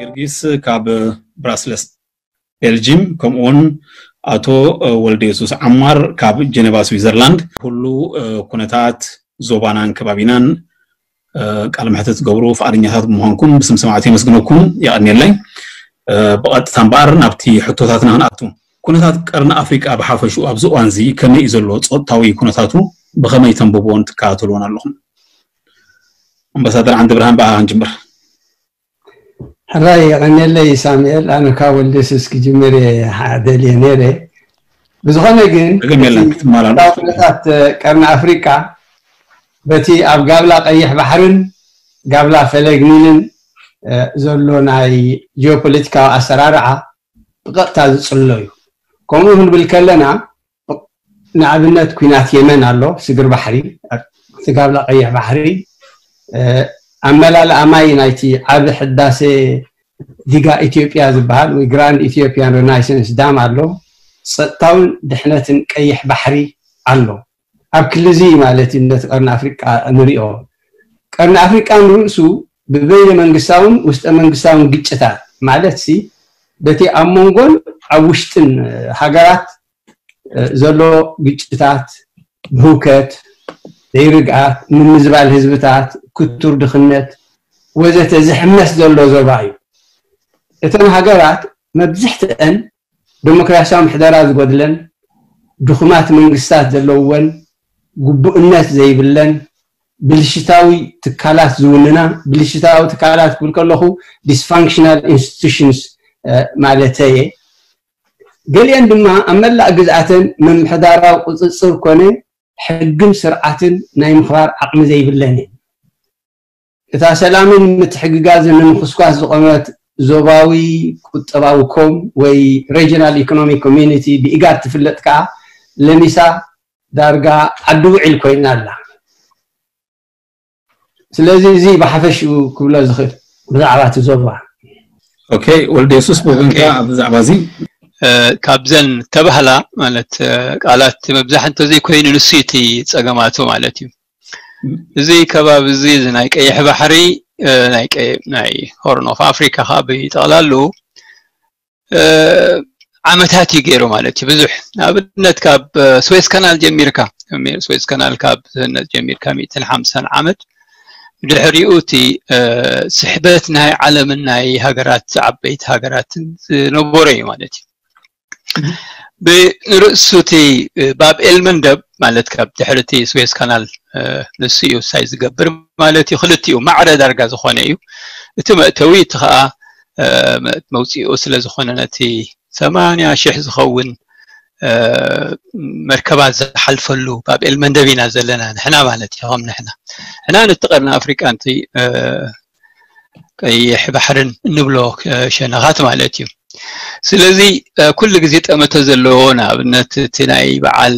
ጊዮርጊስ ካብ ብራስለስ ቤልጂም፣ ከምኡውን ኣቶ ወልደ የሱስ ዓማር ካብ ጀኔቫ ስዊዘርላንድ። ኩሉ ኩነታት ዞባናን ከባቢናን ቃለ መሕትት ትገብሩ ፍቓደኛታት ብምዃንኩም ብስም ሰማዕቲ የመስግነኩም። የቐንየለይ። ብቐጥታ እምበኣር ናብቲ ሕቶታትና ክንኣቱ። ኩነታት ቀርኒ ኣፍሪቃ ብሓፈሽኡ ኣብዚ እዋን እዚ ከመይ እዩ ዘሎ? ጾታዊ ኩነታቱ ብኸመይ ተንብብዎን ትከታተልዎን ኣለኹም? ኣምባሳደር ዓንዲ ብርሃን፣ ብኣኻ ክንጅምር። ሕራይ የቐንየለይ ሳሙኤል። ኣነ ካብ ወልደስስ ክጅምር እየ ደልየ ነይረ። ብዝኾነ ግን ጸገም የለን፣ ክትመላለስ። ኩነታት ቀርኒ ኣፍሪቃ በቲ ኣብ ጋብላ ቀይሕ ባሕርን ጋብላ ፈለግ ኒልን ዘሎ ናይ ጂኦፖለቲካዊ ኣሰራርዓ ብቐጥታ ዝጽሎ እዩ። ከምኡ ክንብል ከለና፣ ንኣብነት ኲናት የመን ኣሎ፣ ስግር ባሕሪ፣ ኣብቲ ጋብላ ቀይሕ ባሕሪ፣ ኣመላልኣ ማይ ናይቲ ዓቢ ሕዳሴ ዲጋ ኢትዮጵያ ዝበሃል ወይ ግራንድ ኢትዮጵያን ሬናይሰንስ ዳም ኣሎ። ጸጥታውን ድሕነትን ቀይሕ ባሕሪ ኣሎ። ኣብ ክልዚ ማለት እዩ ነቲ ቀርኒ ኣፍሪቃ ንሪኦ። ቀርኒ ኣፍሪቃ ንርእሱ ብበይነ መንግስታውን ውስጠ መንግስታውን ግጭታት ማለት ሲ በቲ ኣብ መንጎን ኣብ ውሽጥን ሃገራት ዘሎ ግጭታት፣ ብህውከት፣ ዘይርግኣት፣ ምምዝባል ህዝብታት፣ ክቱር ድኽነት ወዘተ ዝሕመስ ዘሎ ዞባ እዩ። እተን ሃገራት መብዝሕትአን ዲሞክራሲያዊ ምሕደራ ዝጎድለን፣ ድኹማት መንግስታት ዘለውወን፣ ግቡእነት ዘይብለን፣ ብልሽታዊ ትካላት ዝውንና፣ ብልሽታዊ ትካላት ክብል ከለኹ dysfunctional institutions ማለተየ። ገሊአን ድማ ኣብ መላእ ግዝኣተን ምምሕዳራዊ ቁፅፅር ኮነ ሕግን ስርዓትን ናይ ምኽባር ዓቕሚ ዘይብለን እየን። እታ ሰላምን ምትሕግጋዝን ንምኹስኳስ ዝቖመት ዞባዊ ቁጠባዊ ኮም ወይ ሬጂናል ኢኮኖሚክ ኮሚዩኒቲ ብኢጋድ ትፍለጥ ከኣ ለሚሳ ዳርጋ ዓዲ ውዒል ኮይና ኣላ። ስለዚ እዚ ብሓፈሽኡ ክብሎ ዝኽእል ብዛዕባ እቲ ዞባ። ኦኬ፣ ወልደ የሱስ፣ ብወገንካ ብዛዕባ እዚ ካብዘን ተባህላ ማለት ቃላት መብዛሕ እንተዘይኮይኑ ንሱ እቲ ጸገማቱ ማለት እዩ። እዚ ከባቢ እዚ ናይ ቀይሕ ባሕሪ ናይ ሆርን ኦፍ ኣፍሪካ ከዓ ብጠቕላሉ ዓመታት እዩ ገይሩ ማለት እዩ። ብዙሕ ንኣብነት ካብ ስዌዝ ካናል ጀሚርካ ስዌዝ ካናል ካብ ዝህነፅ ጀሚርካ ሚእትን ሓምሳን ዓመት ድሕሪኡ እቲ ስሕበት ናይ ዓለምን ናይ ሃገራት ዓበይቲ ሃገራትን ዝነበሮ እዩ ማለት እዩ። ብንርእሱ እቲ ባብ ኤል መንደብ ማለት ካብ ድሕሪ እቲ ስዌዝ ካናል ንሱ እዩ ሳይ ዝገብር ማለት እዩ። ክልቲኡ ማዕረ ዳርጋ ዝኾነ እዩ። እቲ መእተዊ እቲ ከዓ መውፅኡ ስለ ዝኾነ ነቲ ሰማንያ ሽሕ ዝኸውን መርከባት ዝሓልፈሉ ባብ ኤል መንደብ ኢና ዘለና ንሕና ማለት እዩ። ከም ንሕና ሕና ነቲ ቀርኒ ኣፍሪቃ ንቲ ቀይሕ ባሕርን እንብሎ ሸነኻት ማለት እዩ። ስለዚ ኩሉ ግዜ ጠመተ ዘለዎ ንኣብነት እቲ ናይ በዓል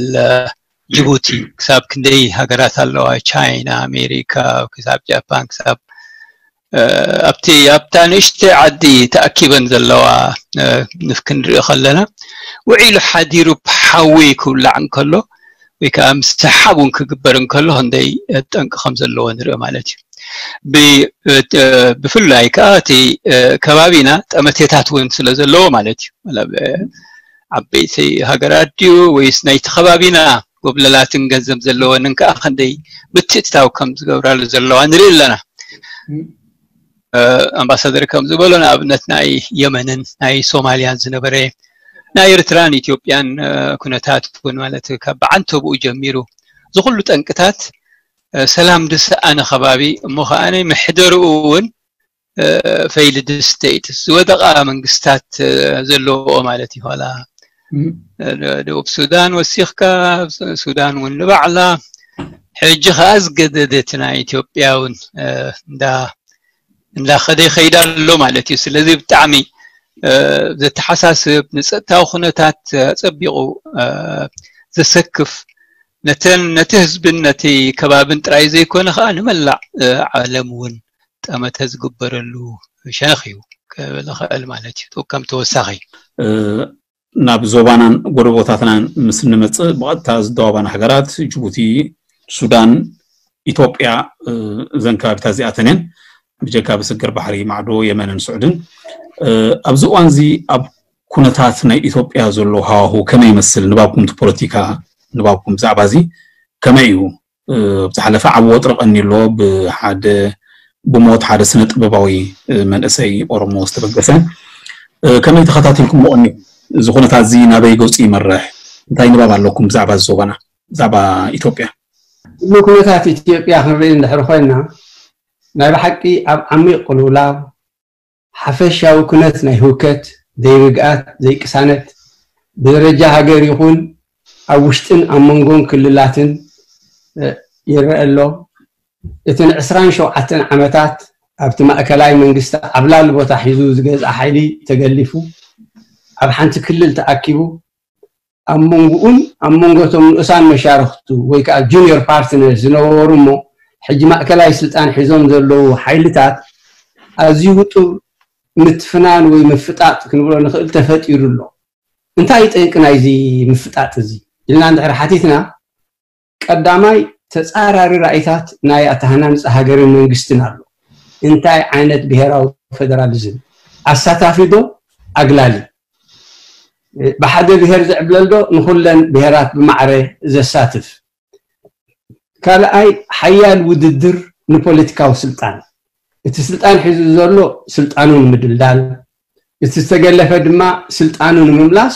ጅቡቲ ክሳብ ክንደይ ሃገራት ኣለዋ፣ ቻይና፣ ኣሜሪካ፣ ክሳብ ጃፓን፣ ክሳብ ኣብቲ ኣብታ ንእሽተይ ዓዲ ተኣኪበን ዘለዋ ክንርኢ ከለና ውዒሉ ሓዲሩ ሓዊ ክውላዕ እንከሎ ወይ ከዓ ምስ ሰሓብ እውን ክግበር እንከሎ ክንደይ ጠንቂ ከም ዘለዎ ንርኢ ማለት እዩ። ብፍላይ ከዓ እቲ ከባቢና ጠመቴታት እውን ስለ ዘለዎ ማለት እዩ። ዓበይቲ ሃገራት ድዩ ወይስ ናይቲ ከባቢና ጎብለላትን ገንዘብ ዘለወንን ከዓ ክንደይ ምትእትታው ከም ዝገብራሉ ዘለዋ ንርኢ ኣለና። ኣምባሳደር ከም ዝበሎ ንኣብነት ናይ የመንን ናይ ሶማልያን ዝነበረ ናይ ኤርትራን ኢትዮጵያን ኩነታት እውን ማለት ካብ ብዓንተብኡ ጀሚሩ ዝኩሉ ጠንቅታት ሰላም ዝሰኣነ ከባቢ እሞ ከዓ መሕደርኡ እውን ፌይልድ ስቴትስ ዝወደቓ መንግስታት ዘለዎ ማለት እዩ። ኋላ ደቡብ ሱዳን ወሲኽካ ሱዳን እውን ንባዕላ ሕጂ ከዓ ዝገደደት ናይ ኢትዮጵያ እውን እንዳ እንዳኸደ ይኸይድ ኣሎ ማለት እዩ። ስለዚ ብጣዕሚ ዘተሓሳስብ ንፀጥታዊ ኩነታት ኣፀቢቑ ዘሰክፍ ነተን ነቲ ህዝብን ነቲ ከባብን ጥራይ ዘይኮነ ከዓ ንመላእ ዓለም እውን ጠመተ ዝግበረሉ ሸነኽ እዩ ክብል እኽእል ማለት እዩ። ከም ተወሳኺ ናብ ዞባናን ጎረቦታትናን ምስ እንመፅእ ብቐጥታ ዝደዋባና ሃገራት ጅቡቲ፣ ሱዳን፣ ኢትዮጵያ እዘን ከባቢታት እዚኣተን እየን። ብጀካ ብስግር ባሕሪ ማዕዶ የመንን ስዑድን። ኣብዚ እዋን እዚ ኣብ ኩነታት ናይ ኢትዮጵያ ዘሎ ሃዋሁ ከመይ ይመስል? ንባብኩም እቲ ፖለቲካ ንባብኩም ብዛዕባ እዚ ከመይ እዩ? ኣብ ዝሓለፈ ዓቢ ወጥሪ ቀኒ ኣሎ፣ ብሓደ ብሞት ሓደ ስነ ጥበባዊ መንእሰይ ኦሮሞ ዝተበገሰ። ከመይ ተኸታቲልኩም ብቐኒ እዚ ኩነታት እዚ ናበይ ገጹ ይመርሕ? እንታይ ንባብ ኣለኩም ብዛዕባ እዚ ዞባና፣ ብዛዕባ ኢትዮጵያ? ኩሉ ኩነታት ኢትዮጵያ ክንርኢ እንድሕር ኮይና፣ ናይ ብሓቂ ኣብ ዓሚቕ ቅልውላው፣ ሓፈሻዊ ኩነት ናይ ህውከት፣ ዘይርግኣት፣ ዘይቅሳነት፣ ብደረጃ ሃገር ይኹን ኣብ ውሽጥን ኣብ መንጎን ክልላትን ይረአ ኣሎ። እቲ ንዕስራን ሸውዓተን ዓመታት ኣብቲ ማእከላይ መንግስቲ ዓብላሊ ቦታ ሒዙ ዝገዝኣ ሓይሊ ተገሊፉ፣ ኣብ ሓንቲ ክልል ተኣኪቡ፣ ኣብ መንጎኡን ኣብ መንጎ እቶም ንኡሳን መሻርኽቱ ወይ ከዓ ጁኒየር ፓርትነር ዝነበሩ እሞ ሕጂ ማእከላይ ስልጣን ሒዞም ዘለዉ ሓይልታት ኣዝዩ ውጡብ ምትፍናን ወይ ምፍጣጥ ክንብሎ ንኽእል ተፈጢሩ ኣሎ። እንታይ እዩ ጠንቂ ናይዚ ምፍጣጥ እዚ ኢልና እንድሕር ሓቲትና፣ ቀዳማይ ተጻራሪ ራእይታት ናይ ኣተሃናንጻ ሃገርን መንግስትን ኣሎ። እንታይ ዓይነት ብሔራዊ ፌደራሊዝም? ኣሳታፊ ዶ ኣግላሊ? ብሓደ ብሔር ዝዕብለል ዶ ንኹለን ብሔራት ብማዕረ ዘሳትፍ? ካልኣይ ሓያል ውድድር ንፖለቲካዊ ስልጣን። እቲ ስልጣን ሒዙ ዘሎ ስልጣኑ ንምድልዳል፣ እቲ ዝተገለፈ ድማ ስልጣኑ ንምምላስ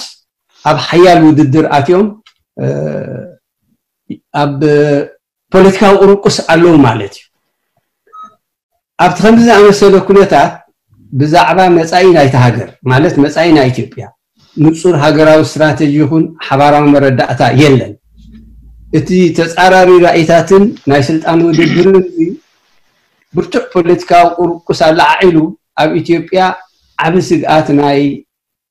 ኣብ ሓያል ውድድር ኣትዮም ኣብ ፖለቲካዊ ቁርቁስ ኣለዉ ማለት እዩ። ኣብቲ ከምዚ ዝኣመሰለ ኩነታት ብዛዕባ መጻኢ ናይቲ ሃገር ማለት መጻኢ ናይ ኢትዮጵያ ንጹር ሃገራዊ ስትራተጂ ይኹን ሓባራዊ መረዳእታ የለን። እቲ ተጻራሪ ራእይታትን ናይ ስልጣን ውድድርን ብርቱዕ ፖለቲካዊ ቁርቁስ ኣለዓዒሉ ኣብ ኢትዮጵያ ዓቢ ስግኣት ናይ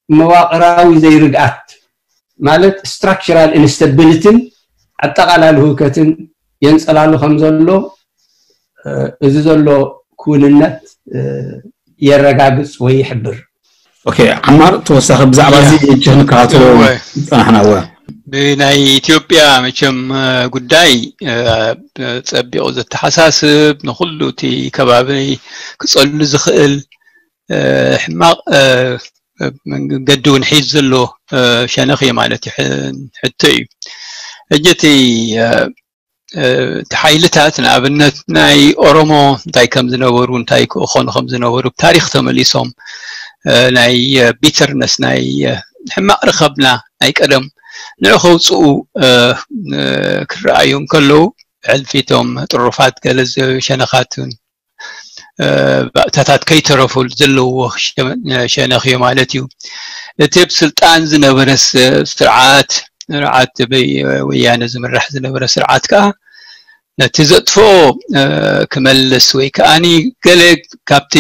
መዋቕራዊ ዘይርግኣት ማለት ስትራክቸራል ኢንስታቢሊቲን ኣጠቓላሊ ህውከትን የንጸላሉ ከም ዘሎ እዚ ዘሎ ክውንነት የረጋግጽ ወይ ይሕብር። ኦኬ፣ ዓማር ተወሳኺ ብዛዕባ እዚ ሕጂ ክንከታተሎ ዝጸናሕና እወ። ብናይ ኢትዮጵያ መቸም ጉዳይ ጸቢቑ ዘተሓሳስብ ንኹሉ እቲ ከባቢ ክጸሉ ዝኽእል ሕማቕ መንገዲ እውን ሒዝ ዘሎ ሸነኽ እዩ ማለት እዩ። ሕቶ እዩ። ሕጂ እቲ እቲ ሓይልታት ንኣብነት ናይ ኦሮሞ እንታይ ከም ዝነበሩ እንታይ ክኾኑ ከም ዝነበሩ ብታሪክ ተመሊሶም ናይ ቢተርነስ ናይ ሕማቕ ረኸብና ናይ ቀደም ንዑ ከውፅኡ ክረኣዩ እንከለዉ ብሕልፊቶም ጥሩፋት ገለ ሸነኻትን ባእታታት ከይተረፉ ዘለዎ ሸነኽ እዩ ማለት እዩ። እቲ ብ ስልጣን ዝነበረ ስርዓት ስርዓት ብወያነ ዝምራሕ ዝነበረ ስርዓት ከዓ ነቲ ዘጥፍኦ ክመልስ ወይ ከዓኒ ገለ ካብቲ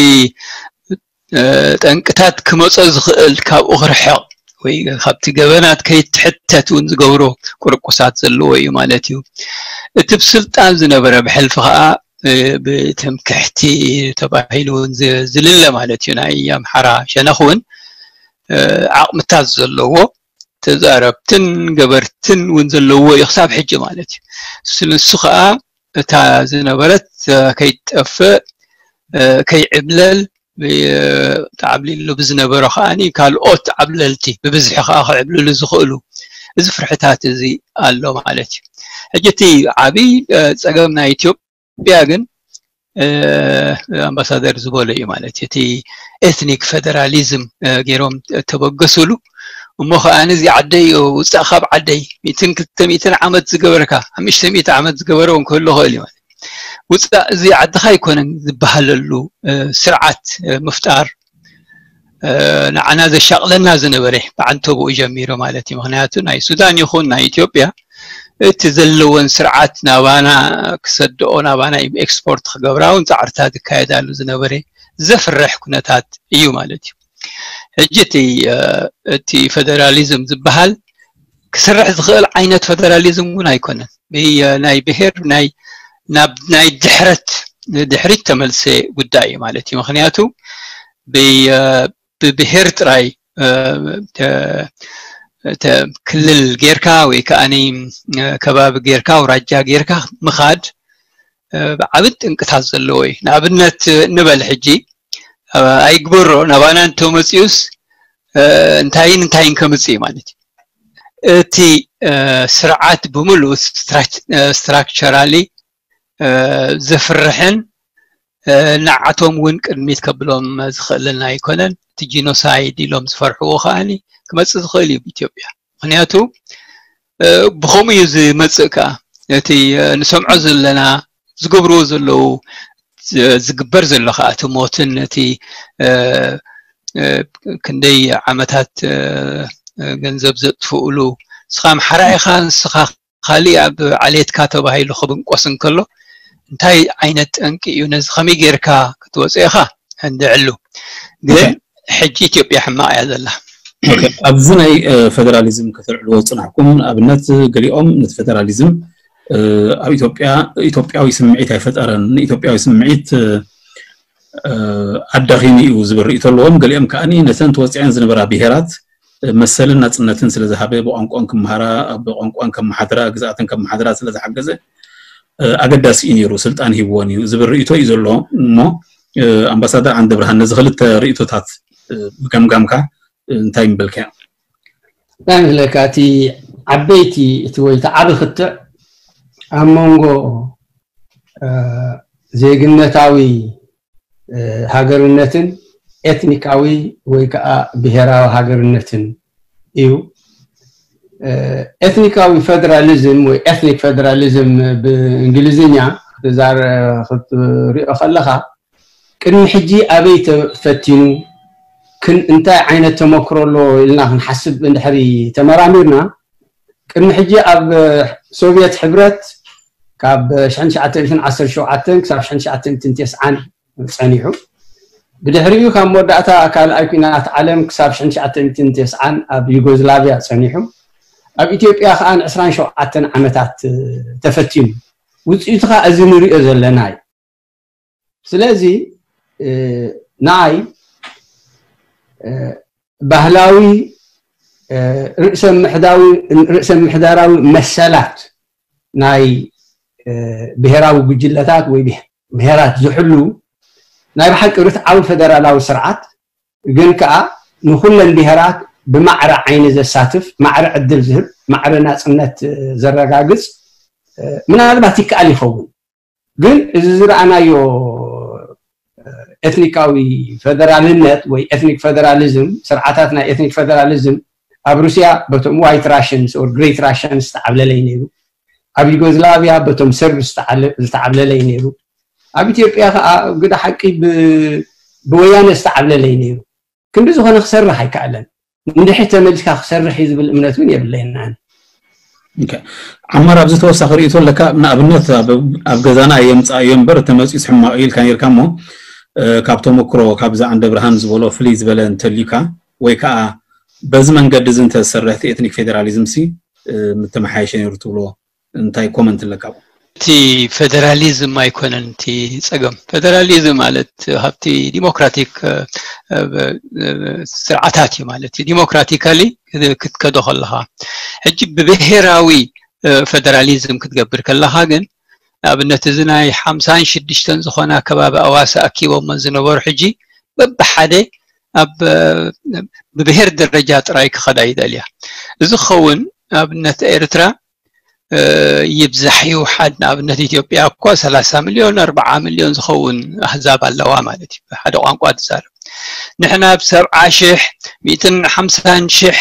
ጠንቅታት ክመፆ ዝኽእል ካብኡ ክርሕቕ ወይ ካብቲ ገበናት ከይትሕተት እውን ዝገብሮ ቁርቁሳት ዘለዎ እዩ ማለት እዩ። እቲ ብስልጣን ዝነበረ ብሕልፊ ከዓ ብትምክሕቲ ተባሂሉ እውን ዝልለ ማለት እዩ። ናይ ኣምሓራ ሸነኽ እውን ዓቕምታት ዘለዎ ተዛረብትን ገበርትን እውን ዘለዎ እዩ ክሳብ ሕጂ ማለት እዩ። ንሱ ከዓ እታ ዝነበረት ከይትጠፍእ ከይዕብለል ተዓብሊሉ ብዝነበሮ ከዓኒ ካልኦት ዓብለልቲ ብብዝሒ ከዓ ክዕብልሉ ዝኽእሉ እዚ ፍርሕታት እዚ ኣሎ ማለት እዩ። ሕጂ እቲ ዓብይ ፀገም ናይ ኢትዮጵያ ግን ኣምባሳደር ዝበሎ እዩ ማለት እዩ። እቲ ኤትኒክ ፌደራሊዝም ገይሮም ተበገስሉ እሞ ከዓኒ እዚ ዓደይ ውፃእ ካብ ዓደይ ሚእትን ክልተ ሚእትን ዓመት ዝገበርካ ሓሙሽተ ሚእቲ ዓመት ዝገበረ እውን ክህሉ ይኽእል እዩ ማለት ውፃእ እዚ ዓድኻ ኣይኮነን ዝበሃለሉ ስርዓት ምፍጣር ንዓና ዘሻቕለና ዝነበረ ብዓንተብኡ ጀሚሩ ማለት እዩ። ምክንያቱ ናይ ሱዳን ይኹን ናይ ኢትዮጵያ እቲ ዘለወን ስርዓት ናባና ክሰድኦ ናባና ኤክስፖርት ክገብራ እውን ፃዕርታት ዝካየዳሉ ዝነበረ ዘፍርሕ ኩነታት እዩ ማለት እዩ። ሕጂ እቲ እቲ ፌደራሊዝም ዝበሃል ክስርሕ ዝኽእል ዓይነት ፌደራሊዝም እውን ኣይኮነን። ናይ ብሄር ናይ ናብ ናይ ድሕረት ድሕሪት ተመልሰ ጉዳይ እዩ ማለት እዩ። ምክንያቱ ብብሄር ጥራይ ክልል ጌርካ ወይ ከዓ ከባቢ ጌርካ ኣውራጃ ጌርካ ምኻድ ዓብን ጥንቅታት ዘለዎ እዩ። ንኣብነት ንበል ሕጂ ኣይግበሮ ናባና እንተመፅኡስ እንታይን እንታይን ከምፅእ እዩ ማለት እዩ። እቲ ስርዓት ብምሉእ structurally ዘፍርሕን ንዓቶም እውን ቅድሚት ከብሎም ዝኽእልን ኣይኮነን። እቲ genocide ኢሎም ዝፈርሕዎ ከዓኒ ክመፅእ ዝኽእል እዩ ብኢትዮጵያ። ምክንያቱ ብኸምኡ እዩ ዝመፅእ። ከዓ እቲ ንሰምዖ ዘለና ዝገብርዎ ዘለዉ ዝግበር ዘሎ ከዓ እቲ ሞትን እቲ ክንደይ ዓመታት ገንዘብ ዘጥፍእሉ፣ ንስኻ ኣምሓራ ኢኻ፣ ንስኻ ካሊእ ኣብ ዓሌትካ ተባሂሉ ክብንቆስ እንከሎ እንታይ ዓይነት ጠንቂ እዩ? ነዚ ከመይ ጌርካ ክትወፅኦ ኢኻ እንድዕሉ። ግን ሕጂ ኢትዮጵያ ሕማቕ እያ ዘላ። ኣብዚ ናይ ፈደራሊዝም ከተልዕልዎ ዝፅናሕኩም ንኣብነት ገሊኦም ነቲ ፈደራሊዝም ኣብ ኢትዮጵያ ኢትዮጵያዊ ስምዒት ኣይፈጠረን፣ ንኢትዮጵያዊ ስምዒት ኣዳኺሙ እዩ ዝብል ርእይቶ ኣለዎም። ገሊኦም ከዓኒ ነተን ተወፂዐን ዝነበራ ብሄራት መሰልን ናፅነትን ስለዝሃበ ብቋንቋን ክመሃራ ብቋንቋን ከመሓድራ ግዝኣተን ከመሓድራ ስለዝሓገዘ ኣገዳሲ እዩ ነይሩ፣ ስልጣን ሂብዎን እዩ ዝብል ርእይቶ እዩ ዘሎ። እሞ ኣምባሳደር ዓንደብርሃን ነዚ ክልተ ርእይቶታት ብገምጋምካ እንታይ ምበልካዮ? እንታይ መስለካ እቲ ዓበይቲ እቲ ወይ እቲ ዓቢ ክትዕ ኣብ መንጎ ዜግነታዊ ሃገርነትን ኤትኒካዊ ወይ ከዓ ብሄራዊ ሃገርነትን እዩ። ኤትኒካዊ ፌደራሊዝም ወይ ኤትኒክ ፌደራሊዝም ብእንግሊዝኛ ክትዛረ ክትሪኦ ከለካ ቅድሚ ሕጂ ኣበይ ተፈቲኑ ክን እንታይ ዓይነት ተመክሮ ኣሎ ኢልና ክንሓስብ እንድሕሪ ተመራሚርና ቅድሚ ሕጂ ኣብ ሶቪየት ሕብረት ካብ ሽሕን ትሽዓተ ሚእትን ዓሰርተ ሸውዓተን ክሳብ ሽሕን ትሽዓተ ሚእትን ተስዓን ጸኒሑ። ብድሕሪኡ ካብ መወዳእታ ካልኣይ ኲናት ዓለም ክሳብ ሽሕን ትሽዓተ ሚእትን ተስዓን ኣብ ዩጎዝላቪያ ጸኒሑ። ኣብ ኢትዮጵያ ከዓ ንዕስራን ሸውዓተን ዓመታት ተፈቲኑ። ውፅኢቱ ከዓ እዚ ንሪኦ ዘለና እዩ። ስለዚ ንዓይ ባህላዊ ርእሰ ምሕዳዊ ርእሰ ምሕዳራዊ መሰላት ናይ ብሄራዊ ጉጅለታት ወይ ብሄራት ዝሕሉ ናይ ብሓቂ ርትዓዊ ፈደራላዊ ስርዓት ግን ከዓ ንኩለን ብሄራት ብማዕረ ዓይኒ ዘሳትፍ ማዕረ ዕድል ዝህብ ማዕረ ናፅነት ዘረጋግፅ ምናልባት ይከኣል ይኸውን። ግን እዚ ዝረኣናዮ ኤትኒካዊ ፈደራልነት ወይ ኤትኒክ ፈደራሊዝም ስርዓታት ናይ ኤትኒክ ፈደራሊዝም ኣብ ሩስያ በቶም ዋይት ራሽንስ ኦር ግሬት ራሽንስ ዝተዓብለለይ ነይሩ። ኣብ ዩጎዝላቪያ በቶም ሰርብ ዝተዓብለለይ ነይሩ። ኣብ ኢትዮጵያ ከዓ ግዳ ሓቂ ብወያነ ዝተዓብለለይ ነይሩ። ክንዲ ዝኾነ ክሰርሕ ኣይከኣለን። እንድሕር ተመሊስካ ክሰርሕ እዩ ዝብል እምነት እውን የብለይን። ዓማር ኣብዚ ተወሳኺ ርእይቶ ኣለካ? ንኣብነት ኣብ ገዛና የምፃእዮ እምበር ተመፂኡስ ሕማቕ እዩ ኢልካ ነርካ እሞ ካብ ተመክሮ ካብዚ ዓንደ ብርሃን ዝበሎ ፍልይ ዝበለ እንተልዩካ ወይ ከዓ በዚ መንገዲ እዚ እንተዝሰርሕ እቲ ኤትኒክ ፌደራሊዝም ሲ ምተመሓየሸ ነይሩ ትብሎ እንታይ ኮመንት ኣለካ? እቲ ፌደራሊዝም ኣይኮነን እቲ ፀገም። ፌደራሊዝም ማለት ካብቲ ዲሞክራቲክ ስርዓታት እዩ ማለት እዩ። ዲሞክራቲካሊ ክትከዶ ከለካ ሕጂ ብብሄራዊ ፌደራሊዝም ክትገብር ከለካ ግን ንኣብነት እዚ ናይ ሓምሳን ሽዱሽተን ዝኾና ከባቢ ኣዋሳ ኣኪቦሞ ዝነበሩ ሕጂ በብሓደ ኣብ ብብሄር ደረጃ ጥራይ ክኸዳ ይደልያ። እዚ ክኸውን ንኣብነት ኤርትራ ይብዛሕ ይውሓድ ንኣብነት ኢትዮጵያ እኳ ሰላሳ ሚልዮን ኣርብዓ ሚልዮን ዝኸውን ኣህዛብ ኣለዋ ማለት እዩ። ሓደ ቋንቋ ትዛረብ ንሕና ብ ሰብዓ ሽሕ ሚእትን ሓምሳን ሽሕ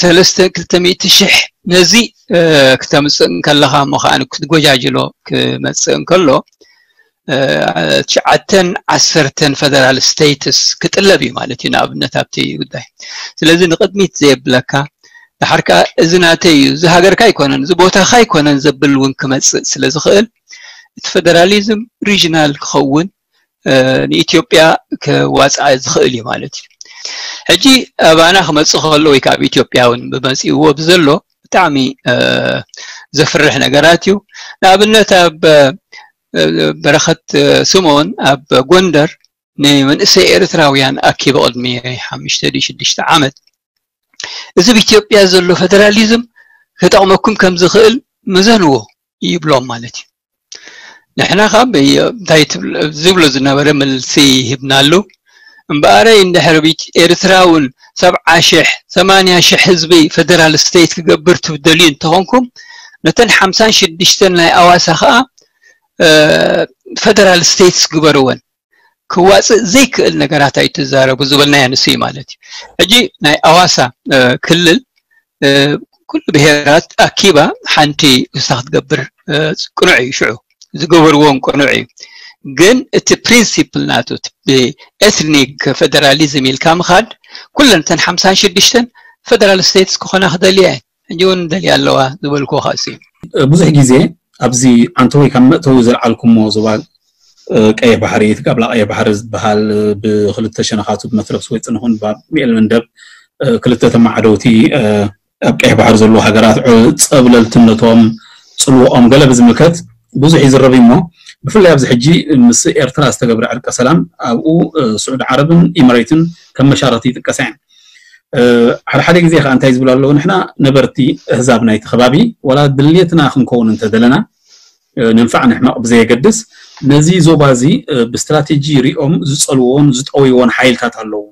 ሰለስተ ክልተ ሚእቲ ሽሕ ነዚ ክተምፅእ እንከለኻ እሞ ከዓ ክትጎጃጅሎ ክመፅእ እንከሎ ትሽዓተን ዓሰርተን ፌደራል ስቴትስ ክጥለብ እዩ ማለት እዩ ንኣብነት ኣብቲ ጉዳይ። ስለዚ ንቅድሚት ዘየብለካ ድሓር ከዓ እዚ ናተይ እዩ፣ እዚ ሃገርካ ኣይኮነን፣ እዚ ቦታካ ኣይኮነን ዘብል እውን ክመፅእ ስለ ዝኽእል እቲ ፌደራሊዝም ሪጅናል ክኸውን ንኢትዮጵያ ክዋፅኣ ዝኽእል እዩ ማለት እዩ። ሕጂ ኣባና ክመፅእ ከሎ ወይ ከዓ ኣብ ኢትዮጵያ እውን ብመፂእዎ ብዘሎ ብጣዕሚ ዘፍርሕ ነገራት እዩ። ንኣብነት ኣብ በረኸት ስምኦን ኣብ ጎንደር ንመንእሰይ ኤርትራውያን ኣኪቡ ቅድሚ ሓሙሽተ ድዩ ሽዱሽተ ዓመት እዚ ኣብ ኢትዮጵያ ዘሎ ፌደራሊዝም ክጠቕመኩም ከም ዝኽእል ምዘንዎ ይብሎም ማለት እዩ። ንሕና ካብ እንታይ ትብል- ዝብሎ ዝነበረ መልሲ ሂብናሉ። እምበኣረይ እንድሕር ቢት ኤርትራ እውን ሰብዓ ሽሕ ሰማንያ ሽሕ ህዝቢ ፌደራል ስቴት ክገብር ትደልዩ እንተኾንኩም፣ ነተን ሓምሳን ሽዱሽተን ናይ ኣዋሳ ከዓ እ፣ ፌደራል ስቴትስ ግበርወን። ክዋፅእ ዘይክእል ነገራት ኣይትዛረቡ ዝበልናዮ ንሱ እዩ ማለት እዩ። ሕጂ ናይ ኣዋሳ እ፣ ክልል እ፣ ኩሉ ብሄራት ኣኪባ ሓንቲ ንሳ ክትገብር እ፣ ቅኑዕ እዩ። ሽዑ ዝገበርዎም ቅኑዕ እዩ። ግን እቲ ፕሪንሲፕል ናቱ እቲ ብኤትኒክ ፌደራሊዝም ኢልካ ምኻድ፣ ኩለን እተን ሓምሳን ሽዱሽተን ፌደራል ስቴትስ ክኾና ክደልያ እየን። ሕጂ እውን ደልያ ኣለዋ ዝበልኩ ካእሲ። ብዙሕ ግዜ ኣብዚ ዓንተወይ ካብ መእተዊ ዘልዓልኩሞ ዞባ እ፣ ቀይሕ ባሕሪ፣ እቲ ጋብላ ቀይሕ ባሕሪ ዝበሃል፣ እ፣ ብክልተ ሸነኻቱ ብመትረብ ስወይ ፅንኹን ባብ ሚኤል መንደብ እ፣ ክልተ ተማዓደውቲ እ፣ ኣብ ቀይሕ ባሕሪ ዘለዉ ሃገራት እ፣ ፀብለልትነቶም፣ ፅልወኦም ገለ ብዝምልከት ብዙሕ ይዝረብ እዩ እሞ፣ ብፍላይ ኣብዚ ሕጂ ምስ ኤርትራ ዝተገብረ ዕርቀ ሰላም ኣብኡ እ፣ ስዑዲ ዓረብን ኢመሬትን ከም መሻረቲ ይጥቀሳ እየን። እ፣ ሓደ ሓደ ግዜ ከዓ እንታይ ዝብሉ ኣለዉ፣ ንሕና ነበርቲ ኣህዛብ ናይቲ ከባቢ ዋላ ድሌትና ክንከውን እንተደለና እ፣ ንንፋዕ ንሕመቕ ብዘየገድስ ነዚ ዞባ እዚ እ፣ ብስትራቴጂ ሪኦም ዝፀልዎን ዝጠውይዎን ሓይልታት ኣለዉ።